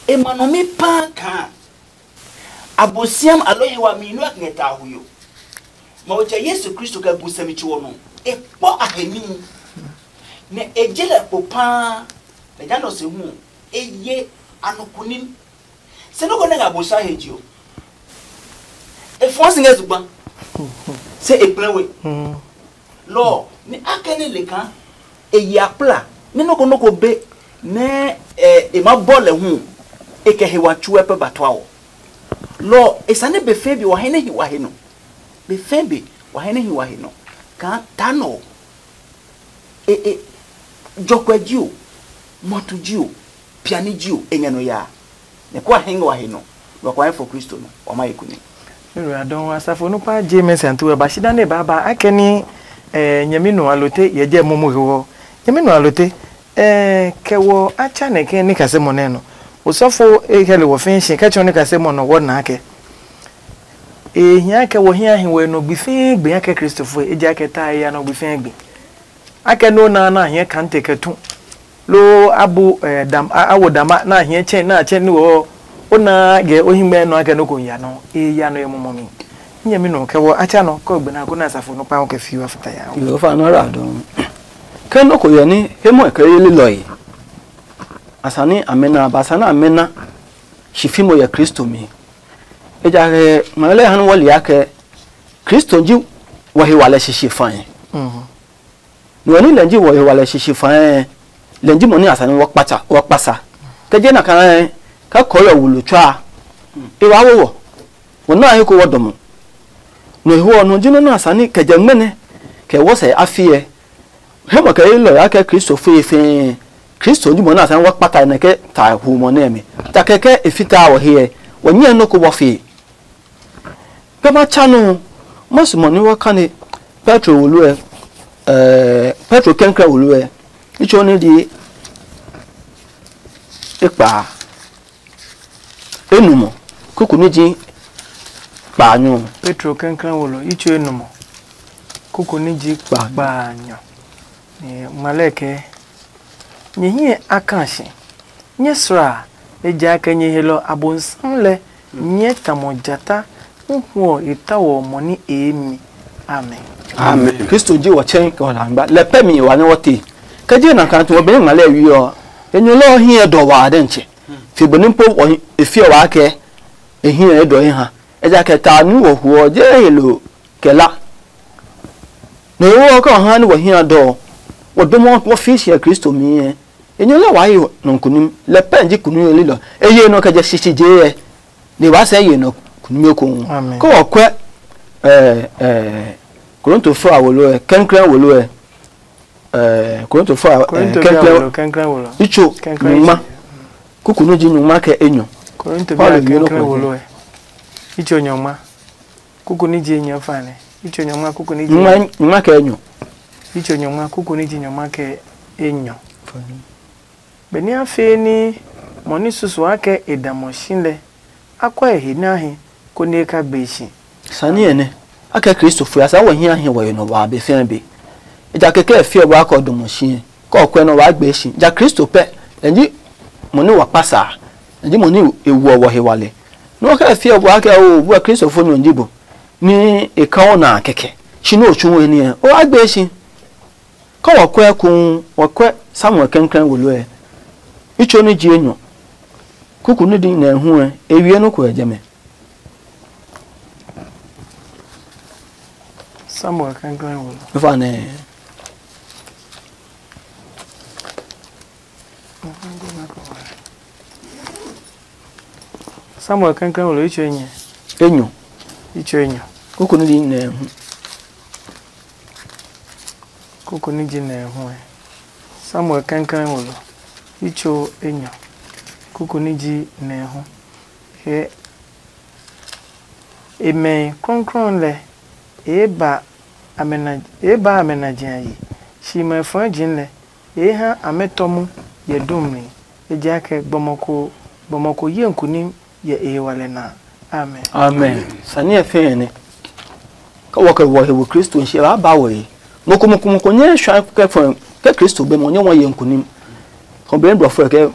E ma nɔ mi paa kaa Abosiam alɔ he wami nua ngɛ ta hui ɔ. Mawu tsɛ Yesu Kristo kɛ gu sɛmi tso ɔ nɔ, e kpɔ a he níhi, nɛ e je lɛ kpo paa, nɛ ja nɔ se hu ɔ, e ye anɔkunim. Se nɔ́ ko nɛ ngɛ Abosiam he je ɔ, e fɔɔ si ngɛ zugba, se e kplɛ we. Lɔ ɔ, nɛ a kɛ nɛ le kaa e yi akpla nɛ nɔ́ ko nɔ́ ko be nɛ e ma bɔ lɛ hu, e kɛ he wa tsuɛ pɛ ba tua ɔ. Lɔ ɔ, e sane be fɛɛ be wa hɛ nɛ hi wa he nɔ. Be fɛɛ be wa hɛ nɛ hi wa he nɔ. Kaa ta nɔ ɔ, e e jɔkuɛ ji o, mɔtu ji o, piani ji o, e ngɛ nɔ yaa. Nɛ kó a hɛ ngɛ wa he nɔ, nɛ wa kɔ ha fɔ Kristo nɔ, wa ma ye kune. Ewura dɔn asafo nupa je mɛ santu wɛ ba shi dane ba ba akɛ ni eh, nyɛmi nɔ alote yɛ jɛ momo he wɔ. Nyɛmi nɔ alote eh, kɛ wɔ a tsa nɛ kɛ ni kase mɔ nɛ nɔ. Osɔfo e kɛ le wɔ fɛɛ shi kɛ tsɔɔ ne kasemɔ nɔ wɔ na kɛ. E hia kɛ wɔ hia hi wɔ nɔ gbi fɛɛ gbi ya kɛ Kristofo e ja kɛ ta e ya nɔ gbi fɛɛ gbi. Akɛ no na na hiɛ kante kɛ tu. Lo abu eh, dam a, a wo dama na hiɛ chɛ na chɛ ni wɔ. O na ge o hingmɛ nɔ akɛ no ko ya nɔ. E ya nɔ e mɔmɔ mi. Nyɛ mi nɔ kɛ wɔ a cha nɔ kɔ gbe na ko na safo no pa kɛ fi wa fita ya. Yo fa no ra do. Ke no ko yɛ ni he mo ke ye lilɔ yi. Asani amena ba sana amena. Shi fi mo yɛ Kristo mi. Ejahe ngmɛlɛ han wɔ lia ke Kristo ji wɔ he wa lɛ sisi fae. Nɔ ni lɛ ji wɔ he wa lɛ sisi fae. Lɛ ji mo ni asani wɔ kpata wɔ kpasa. Ke je na kan ka kɔ yɔ wulu tswa. E wa wo wɔ. Wɔ na he ko wɔ dɔmɔ. Nɔ he wɔ nɔ ji nɔ na asani kɛ jɛ ngmɛnɛ kɛ wɔ sɛ afiɛ. He mo kɛ ilɔ ya kɛ Kristo fee fee. Kristo ji mo na asani wɔ kpata nɛ ke ta hu mo nɛ mi. Ta kɛkɛ e fita wɔ he. Wɔ nyɛ no ko wɔ fee. Kɛ ma tsa nɔ, ma su mɔ ni wa kane Petro wolo ɛ, ɛɛ Petro kɛnkɛn wolo ɛ, itsɔ ni di ekpa enumɔ kuku ni ji kpaanyɔ. Petro kɛnkɛn wolo itsɔ enumɔ kuku ni ji kpaanyɔ. Ni ngmalɛ kɛ nyɛ hiɛ a kan si. Nyɛ sra, ejakaa nyɛ helɔ Abonsam lɛ nyɛ tamɔ jata huhu ɔ e tawɔ mɔ ní eemi. Amen. Amen. Kristo ji wɔ tsɛn kɛ wɔ la ngba. Lɛ pɛ mi wa ne wɔ te. Kɛ je na kan tu wɔ bɛ ngma lɛ wi ɔ. Enyɔ lɛ ɔ hiɛ dɔ wa dɛ ntsɛ. Fi bɔ ni po wɔ e fi wa kɛ e hiɛ e dɔ e ha. Ejakaa ta nu wɔ huɔ je helo kɛ la. Nɔ he wɔ kɛ wɔ ha ni wɔ hiɛ dɔ. Wɔ dɔmɔ wɔ fi si Kristo mi. Enyɔ lɛ waa yi nɔ kunim lɛ pɛ ji kunu yeli lɔ. Eye nɔ kɛ jɛ sisi je yɛ. Ni waa sɛ ye nɔ kunim ko. Amen. Ko wɔ kwɛ eh eh Korinto fo awolo ɛ kɛnkrɛn wolo ɛ eh Korinto fo awolo kɛnkrɛn wolo. Itso nyuma. Kuku no ji nyuma kɛ enyɔ. Korinto bi kɛnkrɛn wolo ɛ. Itso nyuma. Kuku ni ji enyɔ fane. Itso nyuma kuku ni ji. Nyuma kɛ enyɔ. Itso nyuma kuku ni ji nyuma kɛ enyɔ. Benɛ a fee ní mɔ ní susuɔ akɛ e da mɔ si lɛ, a kɔe he nɛ a hi, konɛ e ka gbe e si. Sani ɛ nɛ, a kɛ Kristo fue a saa wɔ hi a hi wɔ he nɔ waa be fɛɛ be. Ejakaa kɛ e fiɛ bɔ a kɛ o dɔ mɔ si ɛ, kɛ o kɔɛ nɔ waa gbe e si. Ja Kristo pɛ, lɛ ji mɔ ní wa kpa sa a, lɛ ji mɔ ní e wuɔ wɔ he wale. Nɔ kɛ e fiɛ bɔ a kɛ o bua Kristo fo nyɔ ji bo, ní e ka o na a kɛkɛ. Shi nɛ o tsu we ní ɛ, o wa gbe e si. Kɛ wɔ kɔɛ ekuun, wɔ kɔɛ Samuel kɛnklɛn wolo ɛ. Itso ní ji enyɔ. Kuku ní di nɛ hu ɛ, e wie nɔ́ ko ɛ jɛmɛ. Samuel kɛnklɛn wolo. Fa nɛ. Samuel kɛnklɛn wolo itso enyɛ. Enyɔ. Itso enyɔ. Kuku ní di nɛ hu. Kuku ní ji nɛ hu ɛ. Samuel kɛnklɛn wolo itso enyɔ. Kuku ní ji nɛ hu. He emɛ krɔnkrɔn lɛ, e ba amɛ na e ba amɛ na jɛ a yi. Shi mɛ fɔɛ jin lɛ, e ha amɛ tɔ mu yɛ dum mi. Ejakaa gbɔmɔ ko gbɔmɔ ko ye nkunim yɛ e he wale na. Amen. Amen. Sani ɛ fɛɛ ne. Ka wɔ kɛ wɔ he wo Kristo shi ba ba wɔ yi. Moko moko moko nyɛ shwa kɛ fɔ kɛ Kristo be mo nyɛ wɔ ye nkunim. Ko be blɔ fɔ kɛ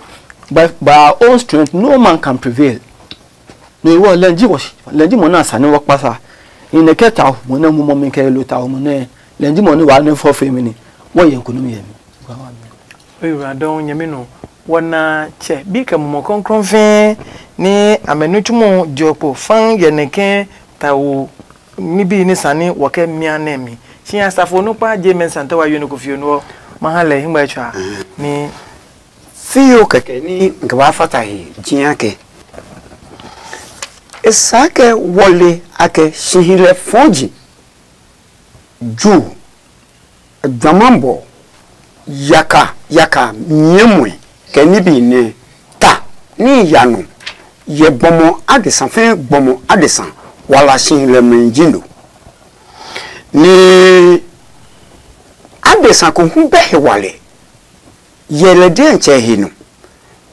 by by our own strength no man can prevail. No wɔ lɛ ji wɔ lɛ ji mo na sani wɔ kpasa. In the kɛ ta mo ne mo mo mi kɛ lo ta mo ne lɛ ji mo ne wa ne fɔ fe mi ni. Wɔ ye nkunim yɛ mi. Ewura dɔn nyɛmi nɔ wɔna tsɛ bi kɛ mumɔ krɔnkrɔn fɛɛ ni amɛ nitsumɔ jɔ kpo fan yɛ nɛ kɛ tawo nibi ni sani wɔkɛ mia nɛ mi. Si asafo nukpa je mɛ santa wa yonu ko fio nuɔ ma ha lɛ hingba tswa ni. Fiyo kɛkɛ ni nke ba fata he jia kɛ esa kɛ wɔle akɛ sihilɛ fɔji ju Gbamabɔ yaka yaka nyɛɛ muɛ kɛ nibi nɛ ta ní ya nɔ yɛ gbɔmɔ adesa fɛɛ gbɔmɔ adesa wala si lɛ mɛ ji no. Nɛ adesa ko hu bɛ he walɛ yɛ lɛ diɛntsɛ he nɔ.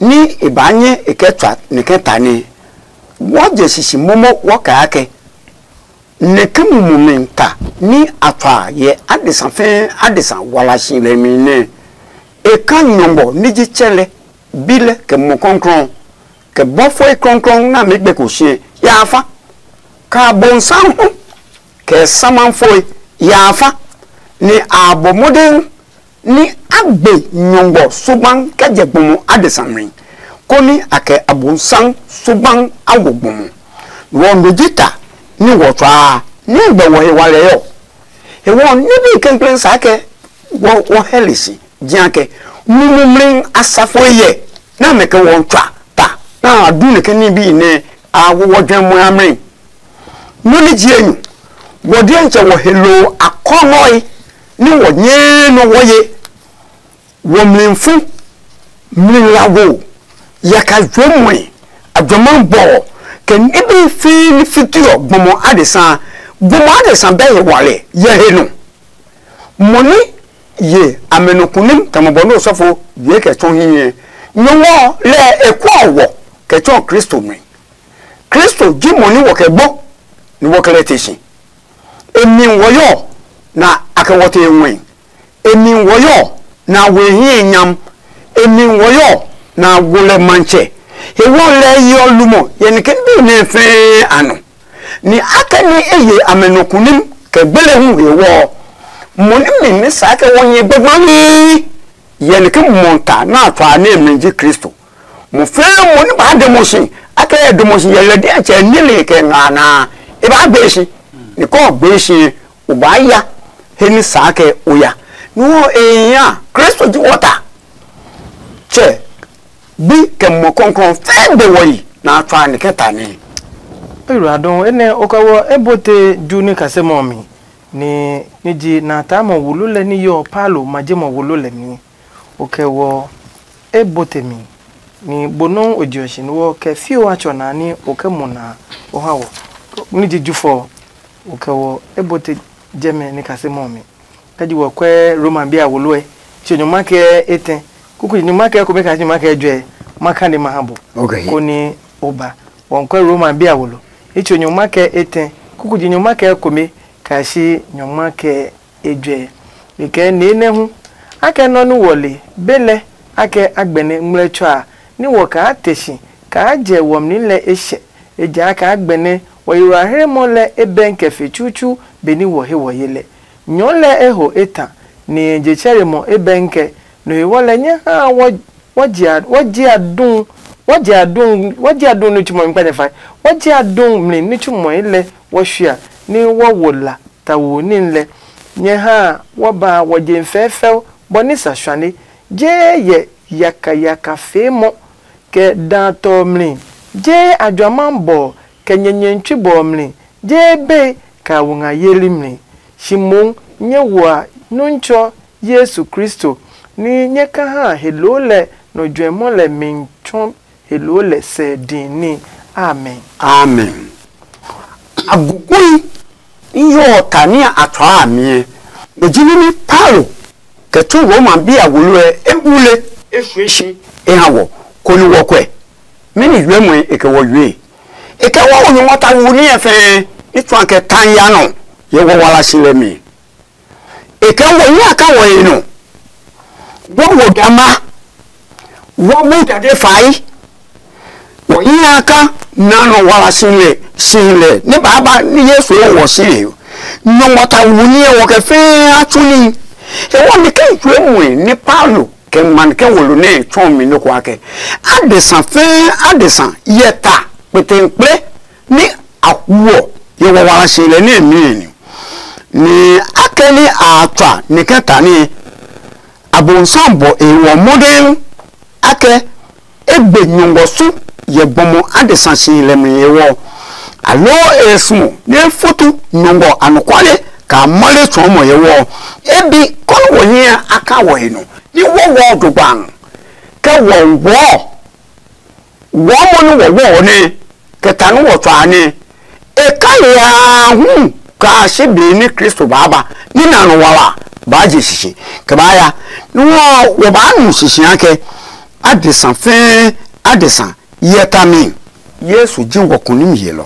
ní e baa nyɛ e kɛ tsua nɛ kɛ ta nɛ wɔɔ jɛ sisi momo wɔ kɛ akɛ nɛ kɛ mumi ta ní a tsua yɛ adesa fɛɛ adesa wala si lɛ mi nɛ e ka nyɔngmɔ ní ji tsɛ lɛ bi lɛ kɛ mɔ kɔnkrɔn kɛ bɔfoi kɔnkrɔn nɛ a mi gbɛ ko si ya fa ka bonsam hu kɛ samafoi ya fa ni a bɔ modern ni a gbe nyɔngmɔ suban kɛ jɛ gbɔmɔ adesa mi koni a kɛ abonsam suban a wo gbɔmɔ wɔ no ji ta ni wɔ tswaa ni gbɛ wɔ he walɛ yɔ he wɔ ni bi kɛnkɛn sa kɛ wɔ wɔ hɛli si jia kɛ mumumli asafo yɛ na mɛ kɛ wɔ tswa ta na a du ne kɛ ni bi ne a wo wɔ jɛ mo amri no ni ji enyu wɔ diɛntsɛ wɔ he lo akɔnɔi ni wɔ nyɛɛ nɔ wɔ ye wɔ mlifu mli lago yaka juɛmɔe ajɔma bɔ kɛ nibi fi ni fitiɔ gbɔmɔ adesa gbɔmɔ adesa bɛ he wale yɛ he nɔ mo ni ye amɛ nɔ kunim tamɔ bɔ ne osɔfo ye kɛ tsɔ hiɛ nyɔngɔ lɛ e kɔ wɔ kɛ tsɔ kristo mi kristo ji mo ni wɔ kɛ gbɔ ni wɔ kɛ lɛ te si emi wɔ yɔ na a kɛ wɔ te ŋwɛ emi wɔ yɔ na we hiɛ nyam emi wɔ yɔ na wo lɛ mantsɛ he wɔ lɛ yɔ lumɔ yɛ ni ke bi ne fɛɛ a nɔ ni akɛni e ye amɛ nɔ kunim kɛ gbele hu he wɔ mo ni mi ni sa kɛ wɔ nyɛ gbɛgbɛmi yɛ ni ke mɔ ta na a tswa ne mi ji kristo mo fɛɛ mo ni ba demo si akɛ demo si yɛ lɛ diɛ tsɛ nile kɛ nga na e ba gbe si ni kɔ gbe si o ba ya he ni sa kɛ o ya ni wɔ e ya kristo ji wɔ ta tsɛ bi kɛ mɔ kɔnkɔn fɛɛ be wɔ yi na a tswa ni kɛ ta ni Ewuradɔn enɛ o kɛ wɔ e bote ju ní kasemɔ mi ni ní ji na taamɔ wulu lɛ ní yɔ Paulo ma je mɔ wulu lɛ mi. O kɛ wɔ e bote mi ni bo nɔ́ o je ɔ shi ni wɔ kɛ fio a tsɔ na ní o kɛ mo na o ha wɔ ní ji jufɔ o kɛ wɔ e bote jɛmɛ ní kasemɔ mi. Kɛ ji wɔ kwɛ Roma bi a woloɛ tsi nyɔngma kɛ etɛ kuku nyɔngma kɛ kome kaa nyɔngma kɛ jɔɛ ma kane ma ha bo. Okay. Koni o ba wɔn kwɛ Roma bi a wolo itso nyɔngma kɛ etɛ kuku ji nyɔngma kɛ kome kaa shi nyɔngma kɛ ejɔɛ. Kɛkɛ nee nɛ hu akɛ nɔ nu wɔle be lɛ akɛ agbɛnɛ ngmlɛtsɔ a ni wɔ kaa te si kaa jɛ wɔmli lɛ eshɛ ejakaa gbɛnɛ wɔ yiwɔ a hremɔ lɛ e bɛn kɛ fe tsutsu benɛ wɔ he wɔ ye lɛ. Nyɔɔ lɛ eho eta ni je tsɛre mɔ e bɛnkɛ no he wɔ lɛ nyɛ ha wɔ wɔ jia wɔ jia dun wɔ jia dun wɔ jia dun ni tsumɔ mi kpa nyɛ fa wɔ jia dun mli ni tsumɔ lɛ wɔ shia ni wɔ wo la ta wo ni lɛ nyɛ ha wɔ ba wɔ je fɛfɛo bɔ ni sa shwane je yɛ yaka yaka fee mɔ kɛ da tɔ mli je ajwama bɔ kɛ nyɛnyɛ tsui bɔ mli je be ka wo nga yeli mli. Shi moŋ nyɛ wa Nuntsɔ Yesu Kristo ní nyɛ ka ha he loo lɛ nɔ juɛmɔ lɛ mi tsɔ he loo lɛ sɛ din ní. Amen. Amen. Agugui n yɔ ta ní a tsɔɔ a miɛ. Mo ji ní Paulo kɛ tsu Roma bi a wolo ɛ e wule e fue shi e ha wɔ koni wɔ kwɛ. Mɛni yuɛ mɔe e kɛ wɔ yue? E kɛ wɔ wo nyɔngma ta wu ní ɛ fɛɛ ní tsuan kɛ tan ya nɔ yɛ wɔ wala si lɛ mi. E kɛ wɔ nyɛ a ka wɔ he nɔ. Wɔ wo dama. Wɔ mu dade fai. Wɔ nyɛ a ka na nɔ wala si lɛ si lɛ ní baaba ní Yesu wɔ si he. Nyɔngma ta wu ní ɛ wɔ kɛ fɛɛ a tsu ní. E wɔ mi kɛ jue mue ní Paulo kɛ man kɛ wolo nɛ tsɔɔ mi nɔ ko akɛ. Adesa fɛɛ adesa yɛ ta kpetenkple ní a huɔ yɛ wawala si lɛ nɛ mi ni ni akɛ ni a tswa ni kɛ ta ni abonsam bɔ e wɔ modern akɛ e gbe nyɔngɔ su yɛ gbɔmɔ adesa si lɛ mi yɛ wɔ alo e sumo ne futu nyɔngɔ anɔkwale ka male tsɔɔmɔ yɛ wɔ e bi kɔni wɔ hiɛ aka wɔ he nɔ ni wɔ wɔ dogban kɛ wɔ wɔ wɔ mɔ ni wɔ wɔ ne kɛ ta nɛ wɔ tsɔ a nɛ e ka yaa hu kaa si be ní Kristo baa ba ní na nɔ wala baa je sisi kɛ baa ya ní wɔ wɔ baa nu sisi akɛ adesa fɛɛ adesa hyɛ ta mi. Yesu ji wɔ kunim yelɔ.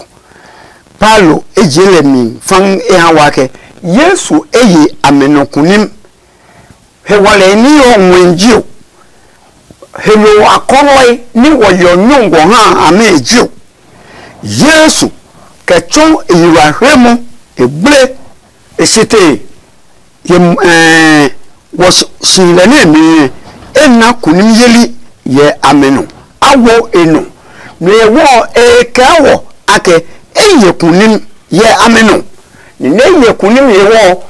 Paulo e je lɛ mi fãŋ e ha wa ke Yesu e ye amɛ nɔ kunim. Hewalɛ ní ɔ ŋwɛi jio, helo akɔlɔi ní wɔ yɔ nyɔngɔ ha amɛ jio. Yesu kɛ tsɔ e yi wa hre mo e gble e sitee. Ye ɛɛ wɔ si lɛ nɛ mi e na kunim yeli yɛ amɛ nɔ. A wo e nɔ nɔ ye wɔ e kɛ wɔ akɛ e ye kunim yɛ amɛ nɔ. Ni nɛ ye kunim ye wɔ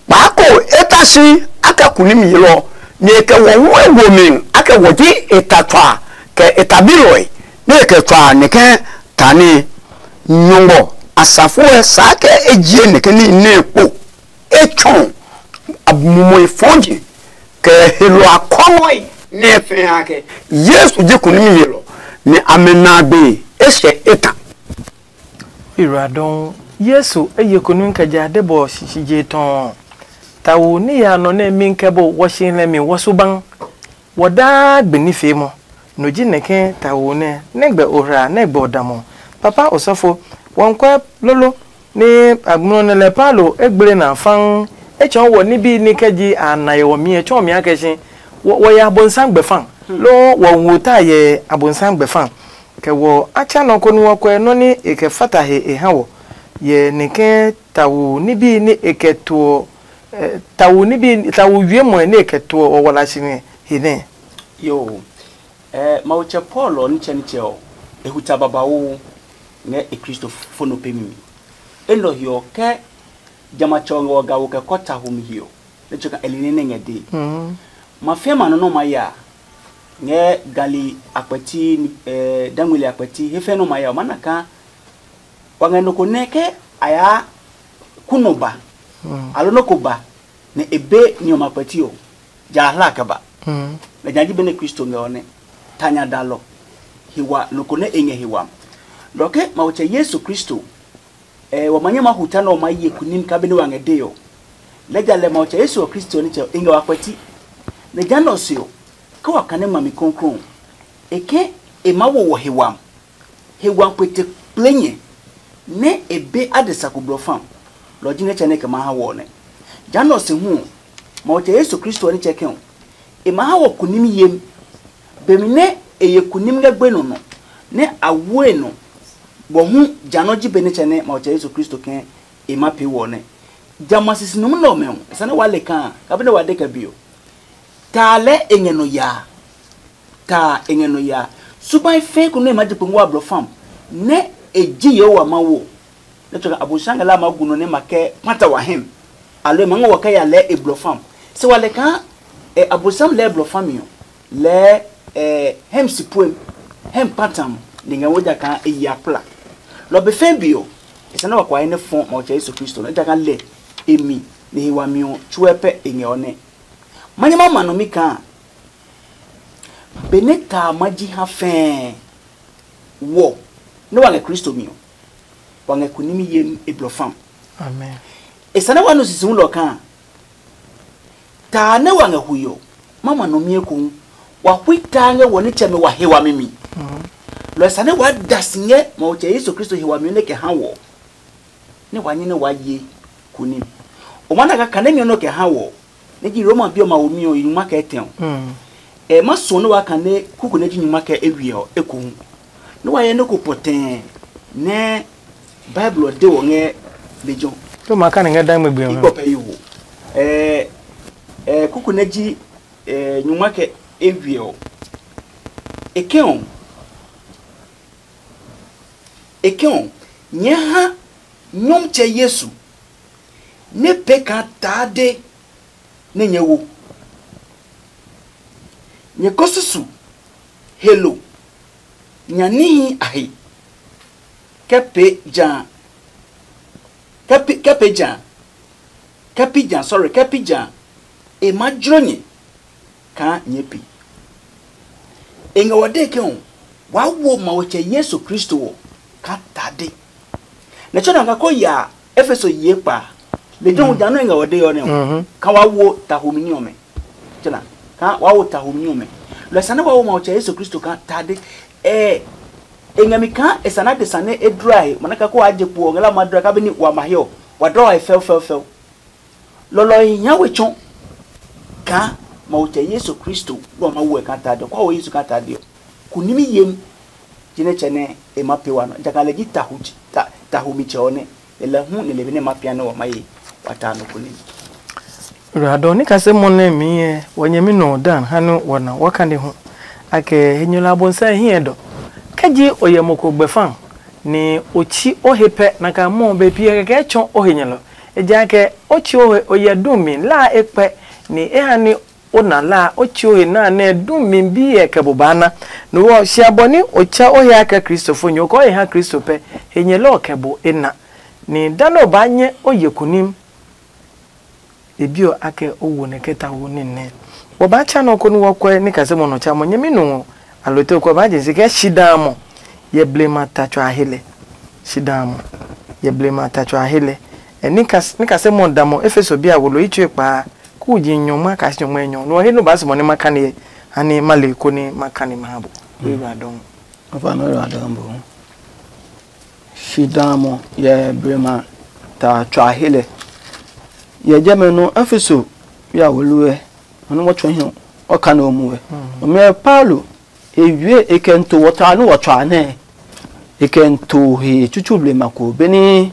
kpaako e ta si akɛ kunim yelɔ ni e kɛ wɔ hu e wo mi akɛ wɔ ji e ta tswa kɛ e tabilɔe nɛ e kɛ tswa nɛ kɛ ta nɛ nyɔngɔ asafo ɛ saa kɛ e jie nɛ kɛ ní nɛ kpo. E tsɔ mumɔe fɔji kɛ helo akɔnɔe nɛ fɛ ha kɛ Yesu ji kunim yelɔ nɛ amɛ na gbe e sɛ e ta. Ira dɔn Yesu eye kunu kɛ ja de bɔ shishije tɔn. Tawo ni ya nɔ nɛ mi kɛ bo wɔshi lɛ mi wɔsu ban. Wɔ daa gbe ní fee mɔ. No ji nɛ ke tawo nɛ nɛ gbɛ ohra nɛ gbɛ odamɔ. Papa osɔfo, wɔnkwɛ lolo ni agblɔ nɛ lɛ Paulo e gble na fãŋ. E tsɔɔ wɔ nibi ni kɛ ji a na yɛ wɔ mi e tsɔɔ mi akɛ shi wɔ ya abonsam gbɛ fã. Loo wɔ wo ta yɛ abonsam gbɛ fã. Kɛ wɔ a tsa nɔ ko nú ɔ kɔɛ nɔ́ nɛ e kɛ fata he e ha wɔ, yɛ nɛ ke tawo ní bí nɛ e kɛ tuɔ, tawo ní bí tawo wiemɔe nɛ e kɛ tuɔ ɔ wala si ngɛ he nɛ. Yoo, Mawu tsɛ Paul ɔ nitsɛnitsɛ ɔ, e hu tsa babauu ngɛ e Kristo fo nɔ pemi mi. Enɛ ɔ he ɔ, ke jamɛ a tsɛ ɔ ngɛ wɔ ga wo kɛ kɔ ta ho mi he ɔ, nɛ tsɔɔ kaa e li nɛ nɛ ngɛ dee. Ma fia ma nɔ nɛ ɔ ma ya ngɛ gali akpɛti, dangmeli akpɛti he fɛɛ nɛ ɔ ma ya ɔ, ma na kaa wa ngɛ nɔ ko nɛ ke a yaa ku nɔ ba, aloo nɔ ko ba nɛ e be ni ɔmɛ akpɛti ɔ, ja a hla kɛ ba. Lɛ nya ji benɛ Kristo ngɛ ɔ nɛ ta nya dalɔ he wa nɔ ko nɛ e ngɛ he wami. Lɔ ke Mawu tsɛ Yesu Kristo, ɛ wa ma nyɛ ma hu ta nɛ ɔ ma ye kunim ka be nɛ wa ngɛ dee ɔ. Lɛɛ ja lɛ Mawu tsɛ Yesu ɔ Kristo ɔ nitsɛ ɔ e ngɛ wa kpɛti. Nɛ ja nɛ ɔ se ɔ, ke wa kane ngmami kɔnkɔn ɔ, e ke e maa wo wɔ he wami. He wami kpete kple nyɛ nɛ e be adesa ko blɔ fam. Lɔ ɔ ji nɛ tsɛ nɛ e kɛ maa ha wɔ ɔ nɛ. Ja nɛ ɔ se hu ɔ, Mawu tsɛ Yesu Kristo ɔ nitsɛ kɛ ɔ, e ma ha wɔ kunim yemi. Bemi nɛ e ye kunim ngɛ gbenɔ nɔ, nɛ a wo e nɔ, bɔ hu ja nɔ ji be nitsɛ nɛ Mawu tsɛ Yesu Kristo kɛ e ma pee wɔ nɛ. Jamɛ a sisi numi nɛ ɔmɛ ɔ, e sane waa le kaa, kabi nɛ wa de kɛ be ɔ, taa lɛɛ e ngɛ nɔ yaa. Taa e ngɛ nɔ yaa. Subai fɛɛ ko nɛ e ma je kpe ngua blɔ fam, nɛ e ji Yehowa Mawu ɔ, nɛ tsɔ Abosiami ngɛ la ma gu nɔ nɛ ma kɛ kpata wa hɛm, aloo e ma ngɔ wa kɛ ya lɛɛ e blɔ fam. Se wa lɛ kaa e Abosiami lɛɛ blɔ fami ɔ, lɛɛ e hɛm si puem, hɛm kpata mo, ni ngɛ wo ja kaa e yi akpla. Lɔ be fɛɛ be ɔ, e sɛ nɛ wa kua he nɛ fɔ Mawu tsɛ Yesu Kristo nɛ, ejakaa lɛ e mi ni he wami ɔ tsuɛ pɛ e ngɛ ɔ nɛ. Ma nyɛ ma ma nɔ mi kaa benɛ taa ma ji ha fɛɛ wɔ nɛ wa ngɛ Kristo mi ɔ, wa ngɛ kunimi yemi e blɔ fam. Amen. E sane wa nu sisi hulɔ kaa taa nɛ wa ngɛ hui ɔ, ma ma nɔ mi ekohu. Wa hui taa ngɛ wɔ nitsɛmɛ wa he wami mi. Lɔ e sane wa da si ngɛ Mawu tsɛ Yesu Kristo he wami ɔ nɛ kɛ ha wɔ. Nɛ wa nyɛ nɛ wa ye kunim. O ma na kaa kane mi ɔ nɔ kɛ ha wɔ nɛ ji Roma bi ɔ ma wo mi ɔ yi nyuma kɛ tɛ ɔ. E ma suɔ nɛ wa kane kuku nɛ ji nyuma kɛ ewiɛ ɔ ekohu. Nɛ wa yɛ nɛ ko pɔtɛɛ nɛ Bible ɔ de wɔ ngɛ lejɔ. To ma kane ngɛ dan gbegbe ɔ. Igbɔ pɛ yi wo. Ɛ ɛ kuku nɛ ji ɛ nyuma kɛ ewiɛ ɔ. E kɛ ɔ. E kɛ ɔ, nyɛɛ ha Nyɔmtsɛ Yesu nɛ pee kaa taa de nɛ nyɛ wo. Nyɛ ko susu helo nya níhi a he kɛ pee ja kɛ pi kɛ pee ja kɛ pi ja sorry kɛ pi ja e ma jlo nyɛ kaa nyɛɛ pi. E ngɛ wa dee ke ɔ, waa wo Mawu tsɛ Yesu Kristo ɔ kaa tade. Nɛ tsɔ na nga ko ya Efeso yi ekpa. Lejɛ hu ja nɔ e ngɛ wa dee ɔ nɛ ɔ, ka waa wo tahomi ní ɔmɛ. Tsɔ na ka waa wo tahomi ní ɔmɛ. Lɔ sane wa wo Mawu tsɛ Yesu Kristo kaa tade. Ɛ e ngɛ mi kaa e sana de sane e dlɔe a he, mana ka ko wa je kpo ɔ ngɛ la ma dlɔe ka be ni wa ma he ɔ, wa dlɔ wa he fɛu fɛu fɛu. Lɔlɔ e hia we tsɔ kaa Mawu tsɛ Yesu Kristo nɛ wa ma wo ɛ kaa tade ɔ, kɔ wo Yesu kaa tade ɔ, kunimi yem. Jinɛ tsɛ nɛ e ma pee wa nɔ, ejakaa lɛ ji tahu, tahu mi tsɛ ɔ nɛ e lɛ hu nɛ le be nɛ ma pia nɛ wa ma ye wa ta nɔ kunimi. Radɔ ni kase mɔ nɛ mi yɛ wɔ nyɛmi nɔ dan ha nɛ wɔ na wɔ kane hu. Akɛ henyɛlɔ abonsɛ hiɛ dɔ. Kɛ ji o yɛ mo ko gbɛfan ni o tsi o he pɛ na ka mɔ be pi kɛkɛ tsɔ o he nyɛlɔ. Ejakaa o tsi o he o yɛ dumi la e kpɛ ni e ha ni o na la o tsi o he na nɛ dumi bi yɛ kɛ bo ba na. No wɔ sia bɔ ni o tsɛ o he akɛ Kristo fo nyo kɔ e ha Kristo pɛ. He nyɛlɔ kɛ bo e na. Ni da nɛ o ba nyɛ o ye kunim. E bi ɔ akɛ o wo nɛ kɛ ta wo ní nɛ. Wɔ baa tsa nɔ koni wɔ kɔɛ ní kase mɔ nɔ tsa mɔ nyɛmi nu ɔ. Alo te o kɔɛ baa je si kɛ shi daa mɔ yɛ blema ta tsɔ a he lɛ. Shi daa mɔ yɛ blema ta tsɔ a he lɛ. Ɛ ní kase mɔ da mɔ Efeso bi a wo lo yi tsue kpaa. Ku ji nyɔngma kasi nyɔngma nyɔ nɔ he no baa si mɔ ní ma kani yɛ. Hani ma le koni ma kani ma ha bo. Wi ba dɔn. Afa nɔ ra dɔn bo. Shi daa mɔ yɛ blema ta tsɔ a he lɛ. Yɛ jɛmɛ nɔ Efeso ya wo lu ɛ. Ɔnɔ wɔ tsɔ hiɔ ɔ ka nɔ mu ɛ. Ɔmɛ Paulo e wie e kɛ nto wɔ ta nɔ wɔ tsɔ a nɛ. E kɛ nto he tsutsu blema ko beni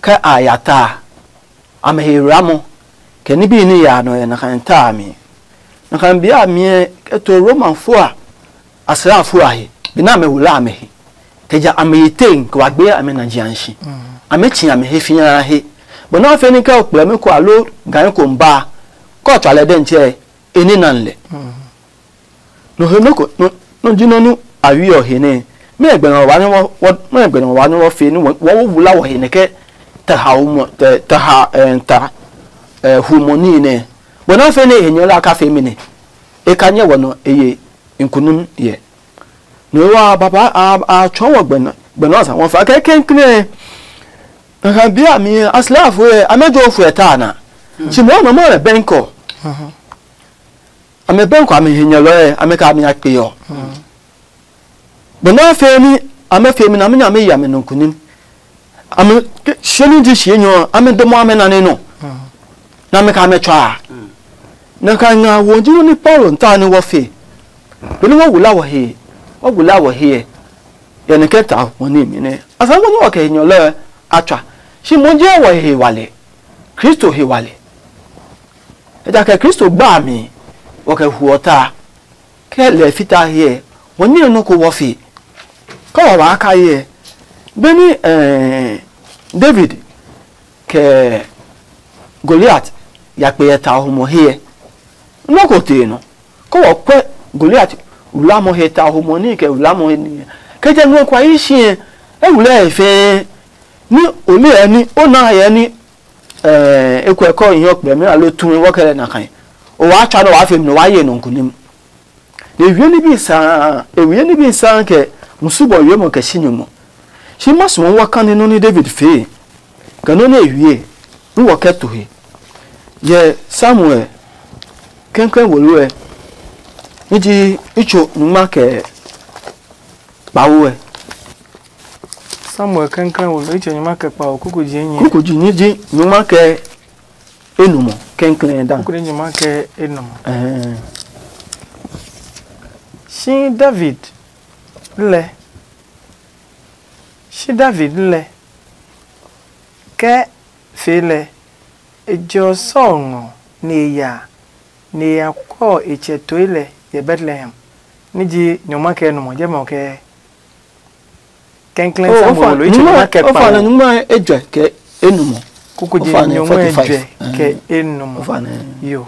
kɛ a ya ta. Amɛ he wlamɔ kɛ nibi ní ya nɔ yɛ nakai ta a mi. Nakai bi a mi kɛ to Roma fua asrafo a he. Bi na amɛ wula amɛ he. Kɛ ja amɛ yi teŋ kɛ wa gbe amɛ na jian shi. Amɛ tsi amɛ he fia he. Bɔ na fe ni kɛ o kplɛ mi ko alo gan ko mba. Kɔ tsɔ lɛ dɛn tsɛ e ni nan lɛ. Nɔ he nɔ ko nɔ ji nɔ nu a wi ɔ he nɛ. Mɛ gbɛ nɔ wa nɔ wɔ mɛ gbɛ nɔ wa nɔ wɔ fe ni wɔ wɔ wula wɔ he nɛ kɛ ta ha o mɔ ta ha ɛ ta ɛ hu mɔ ni nɛ. Bɔ na fe ne he nyɔ la ka fe mi nɛ. E ka nyɛ wɔ nɔ e ye nkunum yɛ. Nɔ wa baba a a tsɔ wɔ gbɛ nɔ gbɛ nɔ sa wɔ fa kɛ kɛnkɛn. Nka bia mi aslafo ɛ amɛ jo fo ɛ ta na. Ti mɔ nɔ mɔ ɛ bɛnkɔ. Amɛ bɛnkɔ amɛ he nyɛlɔɛ amɛ ka amɛ ya kpe ɔ. Bɔ na fɛ ni amɛ fɛ mi na amɛ nya amɛ yi amɛ nɔ kunim. Amɛ shie ni ji shie nyɔ amɛ dɔmɔ amɛ na ne nɔ. Na amɛ ka amɛ tsɔ a. Na ka nga wo ji ni Paulo nta ni wɔ fe. Be ni wɔ wula wɔ he wɔ wula wɔ he ɛ. Yɛ ni kɛ ta wɔ ni mi nɛ a sa wɔ ni wɔ kɛ he nyɛlɔɛ a tswa. Shi mo je wɔ he wale. Kristo he wale. Ejakaa Kristo gba a mi wɔ kɛ huɔ ta. Kɛ lɛ fita hyɛ wɔ nyɛ nɔ ko wɔ fi. Kɛ wɔ waa ka hyɛ. Beni eh, David kɛ Goliat ya kpe yɛ ta humɔ hyɛ. Nɔ ko tee nɔ. Kɛ wɔ kwɛ Goliat wlamɔ he ta humɔ ni kɛ wlamɔ he ni. Kɛ jɛ nɔ kwa yi shi ɛ. E wulɛ fɛɛ ni o le ɛ ni o na yɛ ni. Ɛɛ ekwɛ kɔ nyɔ kpɛ mi alo tumi wɔ kɛ lɛ na kan. O waa tswa nɔ waa fe mi nɔ waa ye nɔ nkunim. Ne wie ni bi saa e wie ni bi saa kɛ musu bɔ wie mɔ kɛ si nyɔmɔ. Si ma suɔ wɔ kan ni nɔ ni David fee kɛ nɔ ni e wie ni wɔ kɛ to he. Yɛ Samuel kɛnkɛn wolo ɛ ni ji itso nyuma kɛ kpawo ɛ. Samuel kɛnkɛn wolo itso nyuma kɛ kpawo kuku ji enyi. Kuku ji ni ji nyuma kɛ enumɔ kɛnkɛn dan. Kuku ni nyuma kɛ enumɔ. Ɛhɛn. Shi David lɛ shi David lɛ kɛ fee lɛ e jɔ Saul ngɔ ni e ya ni e ya kɔ e tsɛ toe lɛ yɛ Betlehem. Ni ji nyɔngma kɛ enumɔ jɛmɛ ɔ kɛ kɛnklɛn Samuel lo itso nyuma kɛ kpa. Ofa na nyuma ejɛ kɛ enumɔ. Kuku ji nyɔngma ejɛ kɛ enumɔ. Yo.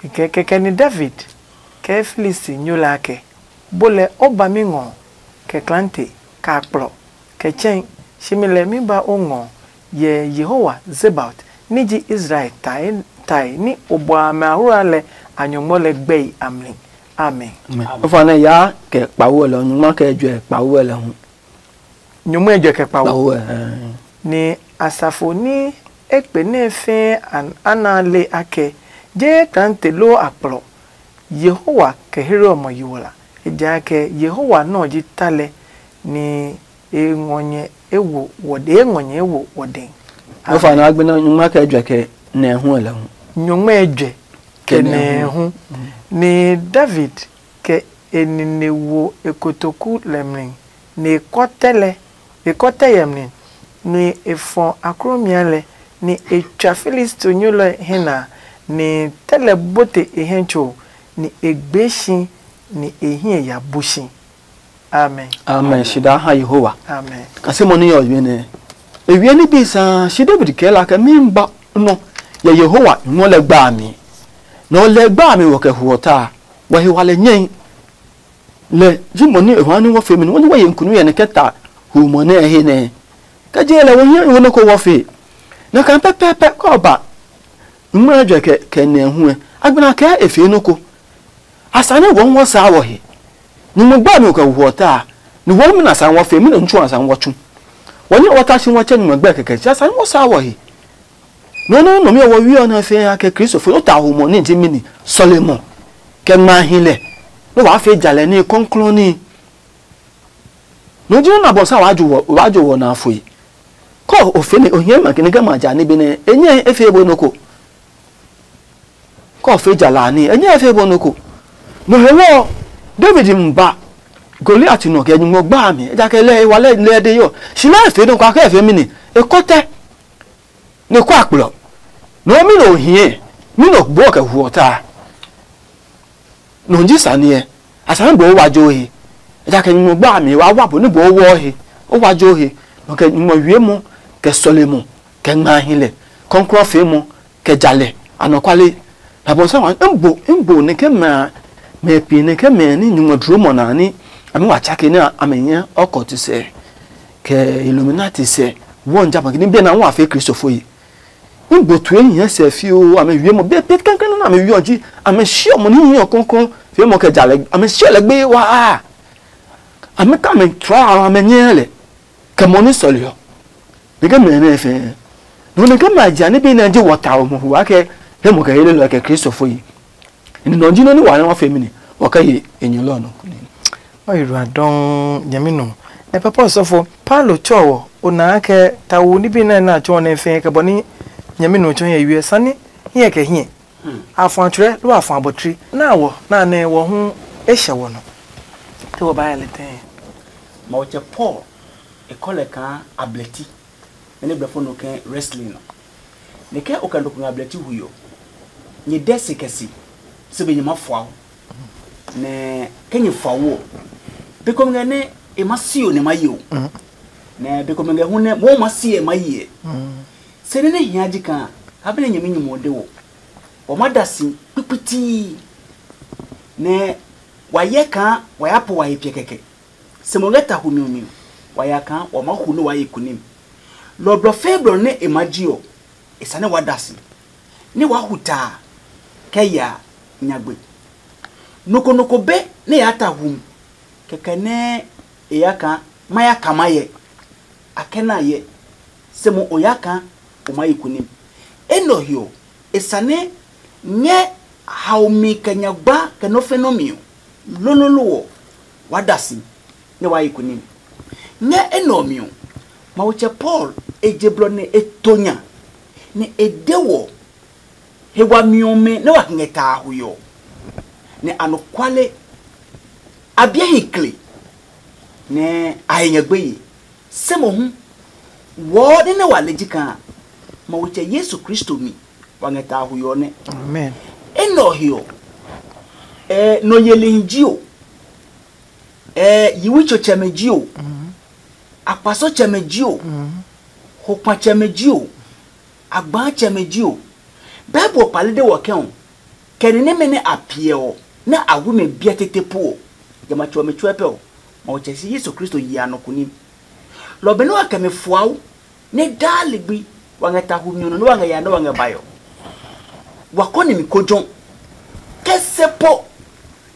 Kɛkɛ ni David kɛ Filisti nyo la kɛ bo lɛ o ba mi ngɔ kɛ klante ka kplɔ kɛ tsɛ̃. Shimi lɛ mi ba o ngɔ yɛ Yehowa Zebaot ni ji Israel tae ni o bua mɛ ahura lɛ a nyɔngmɔ lɛ gbɛi a mli. Amen. Ofa nɛ ya kɛ kpawo lɛ nyungma kɛ jɔɛ kpawo lɛ hu. Nyɔngmɔ ejɔ kɛ kpawo. Kpawo ɛ. Ni asafo ni ekpe nɛ fɛɛ ana le akɛ je klante lo akplɔ Yehowa kɛ here ɔ mɔ yi wla, ejakaa Yehowa nɛ ɔ ji ta lɛ, nɛ e ngɔ nyɛ e wo wɔde e ngɔ nyɛ e wo wɔde. Nɔ fa nɔ agbe nɔ nyungma kɛ jwɛ kɛ nɛ hu lɛ hu. Nyungma ɛ jwɛ kɛ nɛ hu. Ni David kɛ e nine wo e kotoku lɛ mli, nɛ e kɔtɛ lɛ e kɔtɛ yɛ mli, nɛ e fɔ akromia lɛ, nɛ e tswa Filistinyo lɛ hɛ na, nɛ tɛ lɛ bote e hɛ tso, nɛ e gbee si, nɛ e hiɛ ya bu si. Amen. Amen. Shi daa ha Yehowa. Amen. Kasimɔ ni yɔ yue nɛ. Ewie ni bi sa shi David kɛ la kɛ mi ba nɔ yɛ Yehowa nyɔ lɛ gba mi. Nɔ lɛ gba mi wɔ kɛ huɔ ta. Wɔ he wa lɛ nyɛi. Lɛ ji mɔ ni e wa ni wɔ fe mi ni wɔ ni wɔ ye nkunu yɛ ne kɛ ta hu mɔ nɛ he nɛ. Kɛ je lɛ wɔ hiɛ wɔ nɔ ko wɔ fe. Na kan pɛpɛpɛ kɔ ba. Ngmɛɛ jɔ kɛ kɛ nɛ hu. Agbena kɛ e fe nɔ ko. Asa ne wɔn wɔ saa wɔ he. Nyumu gbɛ mi kɛ wɔ ta. Ni wɔn mi na sa wɔ fe mi na ntsu asa wɔ tsu. Wɔn ni wɔ ta shi wɔ tsɛ nyumu gbɛ kɛkɛ. Asa ne wɔ saa wɔ he. No no no mi wɔ wi ɔ na fe ya kɛ Kristo fo ta ho mo ni ji mi ni. Sɔle mo. Kɛ ngma hi lɛ. No wa fe jalɛ ni kɔnklɔn ni. No ji na bɔ sa wa jo wɔ wa jo wɔ na foi. Kɔ o fe ne o hiɛ ma kini kɛ ma ja ni bi ne. Enye e fe bo no ko. Kɔ fe jala ni, enye e fe bo nɔ ko. No he wɔ David mba Goliat nɔ kɛ nyumu gba mi, ejakaa lɛ e wa lɛ lɛ de yɔ. Si lɛ e fe nɔ kwa kɛ e fe mi ni, e kɔtɛ. Ne kwa kplɔ. No mi no hie, mi no gbo kɛ huɔ ta. No ji saniɛ, a sani bo wa jo he. Ejakaa nyumu gba mi wa wa bo ne bo wɔ he. O wa jo he. No kɛ nyumu wie mo, kɛ sɔle mo, kɛ ngma hi lɛ. Kɔnklɔ fe mo, kɛ jalɛ anɔkwale. Abɔnsa wa n bo n bo ne kɛ mɛ mɛ pi ne kɛ mɛ ni nyumu duro mɔ na ni ami wa tsake ne ame nya ɔkɔti sɛ kɛ Illuminati sɛ wɔn jama ni bɛ na wa fe kristofo yi. N bo tue nyɛ sɛ fio ame wie mɔ be pe kankan na ame wie ɔji ame shi ɔmɔ ni yi ɔkɔnkɔn fe mɔ kɛ jalɛ ame shi lɛ gbe wa a ame ka me tra ame nyɛ lɛ. Kɛ mɔ ni sɔle ɔ. Neke mɛ nɛ fɛ. No neke ma ja ni bi na je wɔ ta o mo wa kɛ he mo kɛ hele lɔ kɛ kristofo yi. Ni nɔ ji no ni wa na wa fe mi ni. Wa ka ye enyo lɔ no. Ɔ yi rua dɔn nyɛmi nɔ. Ɛ papa ɔsɔfo Paulo tsɔ wɔ o na kɛ ta wo ni bi na na tsɔ ne fɛ kɛ bɔ ni nyɛmi nɔ tsɔ yɛ yue sani hiɛ kɛ hiɛ. Afɔ atsrɛ loo afɔ abɔtri na wɔ na nɛ wɔ hu e hyɛ wɔ nɔ. Te wɔ ba yɛ lɛ tɛɛ. Maotsɛ Paul e kɔ lɛ kaa ablɛti. Nɛ nɛ blɛfo nɔ kɛ wrestling nɔ. Nɛ kɛ o kɛ nɔ ko ngɛ ablɛti hui ɔ, nyɛ dɛ se kɛ se se be nyɛ ma fua o. Nɛ kɛ nyɛ fua wo ɔ, be komɛ ngɛ nɛ e ma si o nɛ ma yi o. Nɛ be komɛ ngɛ hu nɛ mo ma si e ma yi ɛ. Se nɛ nɛ hia ji kaa ha be nɛ nyɛmi nyumu ɔ de wɔ. Wa ma da si kpikpitii nɛ wa yɛ kaa wa ya po wa he piɛ kɛkɛ. Se mo ngɛ ta humi ɔ mi ɔ, wa ya kaa wa maa hu nɛ waa ye kunim. Lɔ ɔ blɔ fɛɛ blɔ nɛ e maa ji ɔ, e sane waa da si, nɛ waa hu ta a kɛ ya nyagbe. Nɔ ko nɔ ko be nɛ e yaa ta humi, kɛkɛ nɛ e ya kaa ma ya ka ma yɛ. A kɛ na yɛ, se mo o ya kaa o maa ye kunim. Enɛ ɔ he ɔ, e sane ngɛ haomi kɛ nyagba kɛ nɔ́ fɛnɔ mi ɔ, lololo ɔ, waa da si nɛ waa yi kunim. Ngɛ enɛ ɔ mi ɔ, Mawu tsɛ Paul e je blɔ nɛ e to nya, nɛ e de wɔ he wami ɔmɛ nɛ wa ngɛ ta a hui ɔ, nɛ anɔkuale a biɛ hi kle nɛ a he nyɛ gbeye. Se mohu wɔɔ nɛ nɛ wa le ji kaa Mawu tsɛ Yesu Kristo mi wa ngɛ ta a hui ɔ nɛ. Amen. Enɛ ɔ he ɔ, ɛ nɔ yelihi ji o, ɛ yiwitsotsɛmɛ ji o, akpasotsɛmɛ ji o, hokpatsɛmɛ ji o, agbaatsɛmɛ ji o. Bible kpale de wɔ ke ɔ, kɛ ni nɛmɛ nɛ a piɛ ɔ nɛ a wu mɛ biɛ tete po ɔ, jamɛ a tsuɔ mɛ tsuɛ pɛ ɔ, Mawu tsɛ si Yesu Kristo yi a nɔ kunim. Lɔ benɛ wa kɛ mɛ fuau nɛ daa ligbi wa ngɛ ta humi ɔ nɔ nɛ wa ngɛ ya nɛ wa ngɛ bae ɔ, wa kɔ nimi ko jɔ. Kɛ se po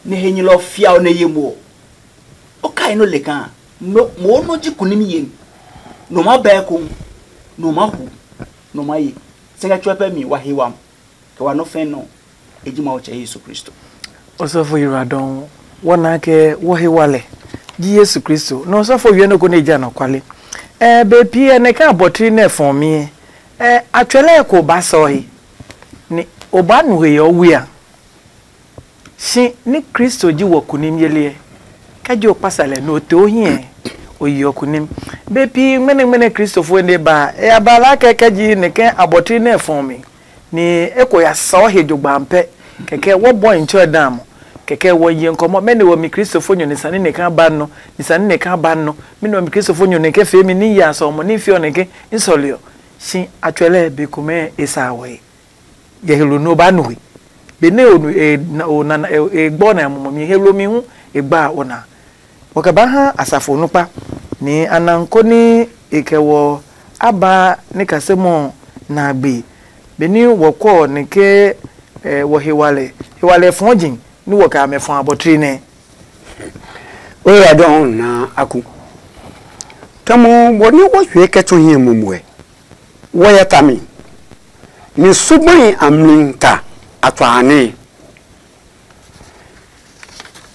nɛ henyɛlɔ ɔ fia ɔ nɛ ye mo ɔ, o kai nɔ le kaa mo nɔ ji kunimi yemi, nɔ ma bɛɛ ko, nɔ ma hu, nɔ ma ye. Se ngɛ tsuɛ pɛ mi wa he wam kɛ wa nɔ fɛn nɔ, e ji Mawu tsɛ Yesu Kristo. Osɔfo Yiradɔn, wɔ na kɛ wɔ he wa lɛ ji Yesu Kristo. Nɔ osɔfo wiɛ nɔ ko ne ja nɔ kwale. Ɛ be pi ɛ ne ka bɔtri nɛ fɔn mi ɛ. Ɛ atswɛlɛ ko ba sɔ he. Ni o ba nu he yɔ wia. Shi ni Kristo ji wɔ kunim yeli ɛ. Kɛ ji o kpasa lɛ no te o hiɛ. O yi o kunim. Be pi ngmɛnɛ ngmɛnɛ Kristofo ne ba. Ɛ a ba la kɛ kɛ ji ne kɛ abɔtri nɛ fɔn mi. Ni e ko ya sɔ he jogbaam pɛ. Kɛkɛ wɔ bɔ in tsɔ da mo. Kɛkɛ wɔ ye nkɔmɔ mɛni wɔ mi Kristofo nyo ni sani ne ka ba nɔ. Ni sani ne ka ba nɔ. Mi nɔ mi Kristofo nyo ne kɛ fe mi ni ya sɔ mo ni fi ɔ ne ke n sɔli ɔ. Shi a tswɛ lɛ be komɛ e sa wɔ he. Yɛ he lo no ba nu he. Be ne o nu e na o na e gbɔ na mo mi he lo mi hu e gba o na. Wɔ kɛ ba ha asafo nukpa ni a na ko ni e kɛ wɔ a ba ni kasemɔ na gbe. Be ni wɔ kɔ ni ke wɔ hewalɛ hewalɛ fɔɔ jin ni wɔ kɛ amɛ fɔ abɔtri nɛ. O ya dɔn na aku. Tamɔ bɔ ni wɔ hwe kɛ tso hiɛ mumuɛ. Wɔ ya ta mi. Ni sugbai a mli ta a twa a nɛ.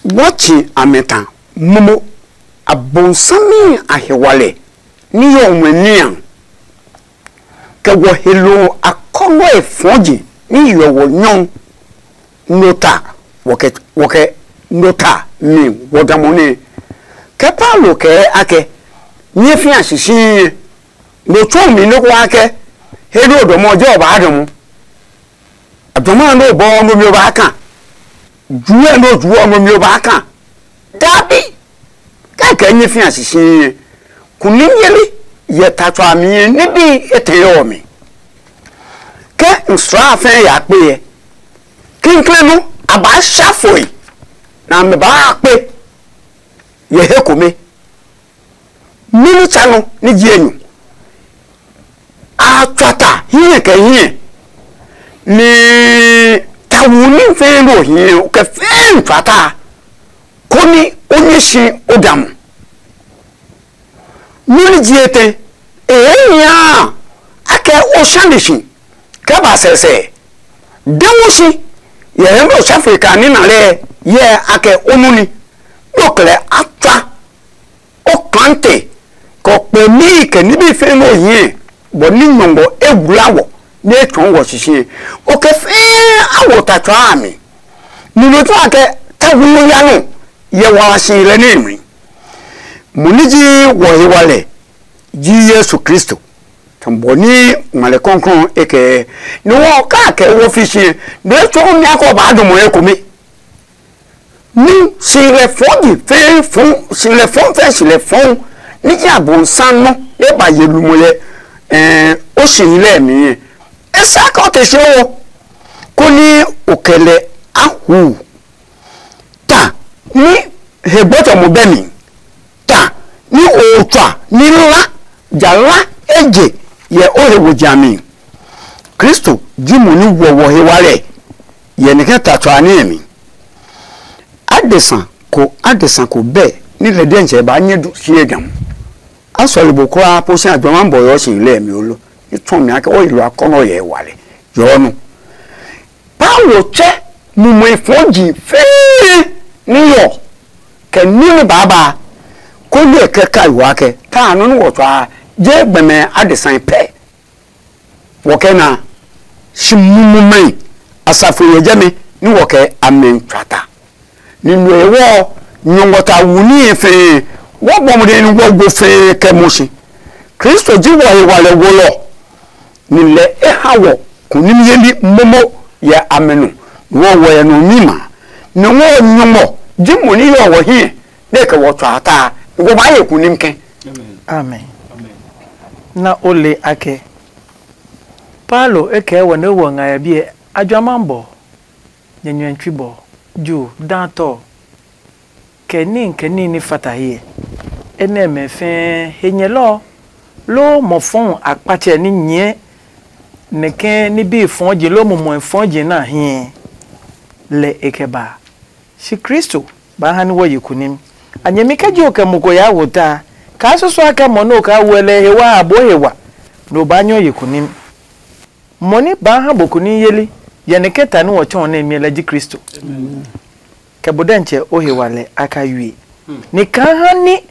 Wɔtsi amɛ ta momo abonsami a hewalɛ ni yɔ wɛ nia, kɛ wɔ he lo akɔnɔe fɔji ni yɔ wɔ nyɔ no ta wɔkɛ wɔkɛ no ta mi wɔ damɔ nɛ. Kɛ Paulo kɛɛ akɛ nyɛ fia shishiɛ no tsuo mi noko akɛ he do dɔmɔ jɛ ɔ baa dɔmɔ. Adɔmɔ ɔ nɔ bɔ ɔ nɔ mi ɔ baa kan. Juɛ nɔ juɔ ɔ nɔ mi ɔ baa kan. Dabi. Kɛkɛ nyɛ fia shishiɛ kunim yeli yɛ ta tso a mi ɛ ne bi etɛ yɛ ɔ mi. Kɛ nsra a fɛ ya kpe yɛ kinkle nu a baa sha foi na mɛ baa kpe yɛ he kome. Mimi tsa nɔ ni ji enyu. A tswa ta hiɛ kɛ hiɛ, ni tawu ní fɛɛ nɔ hiɛ o kɛ fɛɛ n tswa ta, koni o nyɛ si o da mo. Nɔ ni ji etɛ, e hɛ nya a kɛ o sha ni si kɛ ba sɛsɛ. De mu si yɛ hɛ nɔ safre ka ní na lɛ yɛ a kɛ o nu ni. Nɔ kɛlɛ a tswa. O klante kɛ o kpɛmi kɛ nibi fɛɛ nɔ hiɛ bɔ ní nyɔngɔ e wla wɔ nɛ e tsɔɔ wɔ sisi. O kɛ fɛɛ a wɔ ta tsɔɔ a mi. Nino tsa kɛ ta hu ya nɔ yɛ wa si lɛ nɛ mi. Mo ní ji wɔ he wa lɛ ji Yesu Kristo. Tɔn bɔ ní ngmalɛ kɔnkrɔn e kɛ ni wɔ ka kɛ wɔ fi si nɛ e tsɔɔ mi akɔ ba dɔmɔ e kome. Ní si lɛ fɔ̃ ji fɛɛ fɔ̃, si lɛ fɔ̃ fɛɛ si lɛ fɔ̃ ní ji abonsam nɔ e ba ye lumɔ yɛ ɛɛ o si lɛ mi yɛ. E sa ka o te si o, koni o kɛ lɛ a hu ta ní he gbɔtsɔmɔ bɛ mi, ta ní o tswa ní la ja la eje yɛ o he wo ja mi. Kristo ji mo ní wɔ wɔ he wa lɛ yɛ nɛ kɛ ta tswa ní mi. Adesa ko adesa ko bɛ ní lɛ diɛntsɛ ba nyɛ du sie gam. A sɔle bo kura po si a jɔma bɔ yɔ si lɛ mi olo. Ni tun mi ake o yi lo akɔnɔ yɛ wa lɛ. Yɔ nu. Paulo tsɛ mumɔi fɔji fɛɛ ní yɔ kɛ ní ní baaba ko ní e kɛ ka yiwa kɛ ta nɔ ní wɔ tswa je gbɛmɛ adesa pɛ. Wɔ kɛ na shi mumumɛi asafo yɛ jɛmɛ ní wɔ kɛ amɛ tswa ta. Ni nue wɔ nyɔngɔ ta wu ní fɛɛ wɔ gbɔmɔ de ní wɔ go fɛɛ kɛ mo shi. Kristo ji wɔ he wa lɛ wo lɔ. Ni lɛ e ha wɔ kunim yeli momo yɛ amɛ nɔ, ni wɔ wɔ yɛ nɔ mi ma, ni wɔ nyɔngmɔ ji mo ní yɔ wɔ hiɛ nɛ kɛ wɔ tsɔ ata, ni wɔ baa ye kunim kɛ. Amen. Na o le akɛ Paulo e kɛɛ wɔ nɛ wɔ nga yɛ biɛ ajua ma bɔ, nyɛ nyuɛ tsui bɔ, ju, daa tɔ, kɛ níhi kɛ níhi ní fata hiɛ. Enɛ mɛ fɛɛ he nyɛlɔ ɔ, loo mɔ fɔu akpatsɛ ní nyɛɛ nɛ kɛɛ ní bii fɔɔji loo mumɔe fɔɔji nɛ a hii lɛ e kɛ ba a. Shi Kristo baa ha ní wɔ ye kunim. A nyɛmi kɛ ji o kɛ mo ko yaa wo ta a, kaa susua kɛ mɔ nɛ o kaa wuɛ lɛ he wa a boo he wa, nɛ o baa nyɛ o ye kunim. Mɔ ní baa ha bo kunim yeli, yɛ nɛ kɛ ta ní wɔ tsɔɔ nɛ miɛ lɛ ji Kristo. kɛ bo dɛntsɛ o he wa lɛ a ka yue. Ni kaa ha ní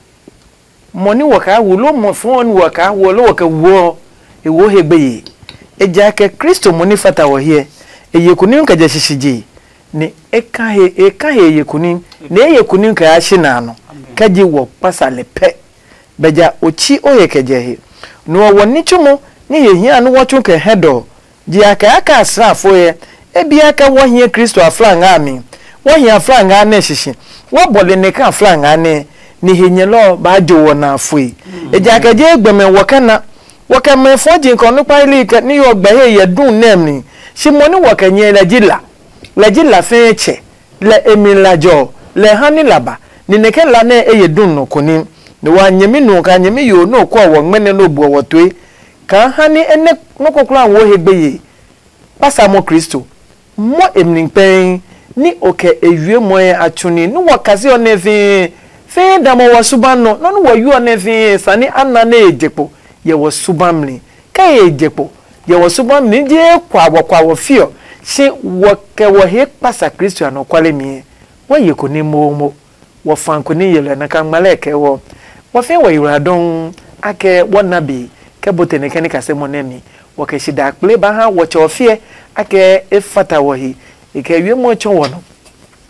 mɔ ní wɔ kaa wu ló mɔ fɔɔ ní wɔ kaa wuɔ ló wɔ kɛ wuɔ, e wo he gbeye. Ejaakɛ Kristo mo ní fata wɔ hiɛ, e ye kunim kɛ jɛ shishije, ni e ka he e ka he e ye kunim, ni e ye kunim kɛ yaa shi na a nɔ, kɛ ji wɔ kpasa lɛ pɛ. Bɛ ja o tsi o he kɛ jɛ he. Nu ɔ wɔ ní tsumu ní he hia nú wɔ tsu kɛ hɛ dɔ. Jehanɛ a kɛ asrafo ɛ, e biɛ ke wɔ hiɛ Kristo afla ngɛ a mi. Wɔ hi afla ngɛ a nɛ sisi, wɔ bɔle nɛ ke afla ngɛ a nɛ, ni he nyɛlɔ ɔ baa jo wɔ na fue. Ejakaa je gbɛmɛ wɔ kɛ na, wɔ kɛ mɛ fɔ ji kɔ nukpa ili kɛ ni yɔ gbɛ he yɛ dun nɛ mi. Shi mo ni wɔ kɛ nyɛ lɛ ji la, lɛ ji la fɛɛ tsɛ, lɛ e mi la jɔ, lɛ ha ni la ba, ni nɛ ke la nɛ e ye dun nɔ koni. Ni wa nyɛmi nu ka nyɛmi yo nɔ kɔ wɔ ngmɛnɛ nɔ buɔ wɔ toe. Kaa ha ni e nɛ nɔ ko kulaa wo he gbeye. Kpasa mɔ Kristo, mɔ e mli kpɛɛ, ni o kɛ e wiemɔe a tsuni nú wɔ kase ɔ nɛ fĩi. Fĩi damɔ wɔ suban nɔ nɔ́ nú wɔ yu ɔ nɛ fĩi sani a na nɛ e je kpo yɛ wɔ suban mli. Kɛ e je kpo yɛ wɔ suban mli je kwa wɔ kwa wɔ fi ɔ, si wɔ kɛ wɔ he kpasa Kristo anɔkuale mi. Wɔ ye ko ní momo. Wɔ fa ko ní yelɔ nɛ ka ngma lɛ kɛ wɔ. Wɔ fɛɛ wɔ yi wla dɔŋ akɛ wɔ na be kɛ bote nɛ kɛ ní kase mɔ nɛ mi. Wɔ kɛ shi da kple ba ha wɔ tsɛ ɔ fiɛ akɛ e fata wɔ he. E kɛ wiemɔ tsɔ wɔ nɔ.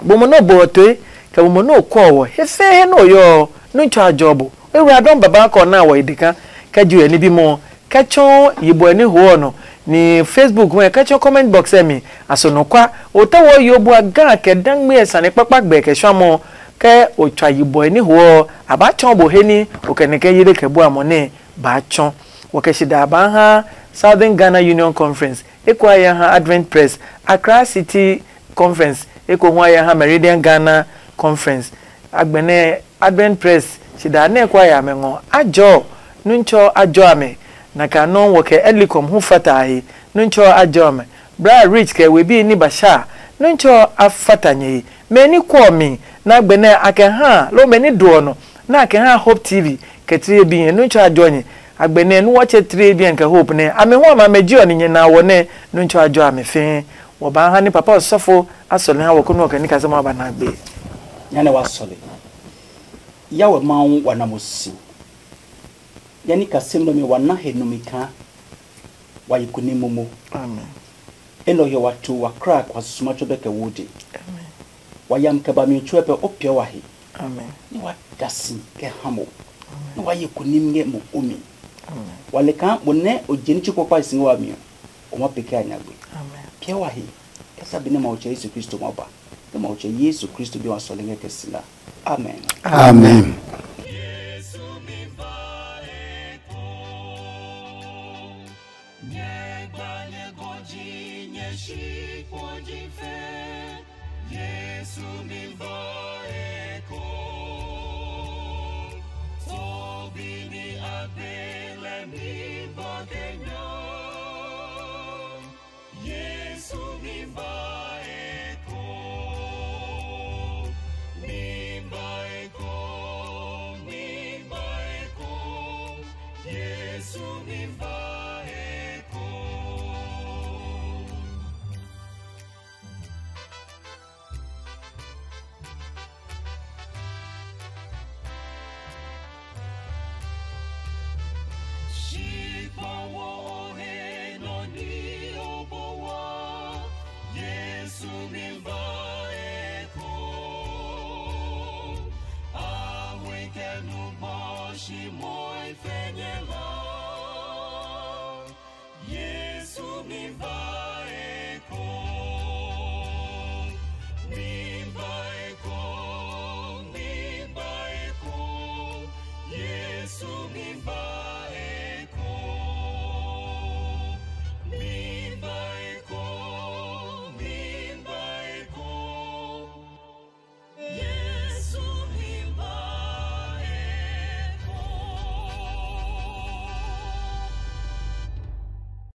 Bo mo nɔ bo ɔ toe kɛ bo mo nɔ kɔ wɔ he fɛɛ he nɔ yɔ nɔ tsɔ a jɔ bo. E wla dɔŋ baba kɔ na wɔ yi deka kɛ ju yɛ ní bimɔ kɛ tsɔɔ yibɔɛ ní ho ɔ nɔ, ni Facebook mɛ kɛ tsɔɔ comment box ɛ mi. A so nɔ kwa o tɛ wɔ yo bua ga kɛ dangme ɛ sane kpakpa gbɛ kɛ shwamɔ. Kɛ o tswa yibɔɛ ní ho ɔ, a ba tsɔɔ bo he ní o kɛ nɛ kɛ yele kɛ bua mɔ nɛ baa tsɔ. Wɔ kɛ shi da baa ha Southern Ghana Union Conference, eko a ya ha Advent Press, Accra City Conference, eko hu a ya ha Meridian Ghana Conference. Agbɛnɛ Advent Press shi da nɛ ko a ya mɛ ngɔ a jɔ. Nuntsɔ a jɔ a mɛ. Na ka nɔ wɔ kɛ Elicom hu fata a he. Nuntsɔ a jɔ a mɛ. Bra Rich kɛ we bi ni ba sha. Nuntsɔ a fata nyɛ he. Mɛ ni kɔ mi na gbɛ nɛ a kɛ ha lo mɛ ni do ɔ nɔ na a kɛ ha Hope T V kɛ tire bi nyɛ. Nuntsɔ a jɔ nyɛ. Agbɛ nɛ nu wɔtsɛ tire bi kɛ Hope nɛ a mɛ hu a ma mɛ ji ɔ ni nyɛ na wɔ nɛ. Nuntsɔ a jɔ a mɛ fɛɛ. Wɔ ba ha ni papa ɔsɔfo a sɔle ha wɔ ko nu ɔ kɛ ni kasɛ ma ba na gbe. Nya nɛ wa sɔle. Ya wɛ Mawu wa na mo si. Ya ni kasem nɔ mi wa na he numi kaa. Wa yi kunim momo. Amen. Enɛ ɔ hyɛ wa tu wa kra kwa susuma tso bɛ kɛ wo de. Amen. Wa yam kɛ ba mi tsuɛ pɛ o piɛ wa he. Amen. Ni wa da si kɛ ha mo. Amen. Ni wa yi kunim ngɛ mo o mi. Amen. Wa le kaa mo nɛ o je ní tsi kpakpa si ngɛ wa mi ɔ, o ma peke a nyagbe. Amen. Piɛ wa he. Kɛ sa bi nɛ Mawu tsɛ Yesu Kristo ma ba. Nɛ Mawu tsɛ Yesu Kristo bi wa sɔle ngɛ kɛ si la. Amen. Amen.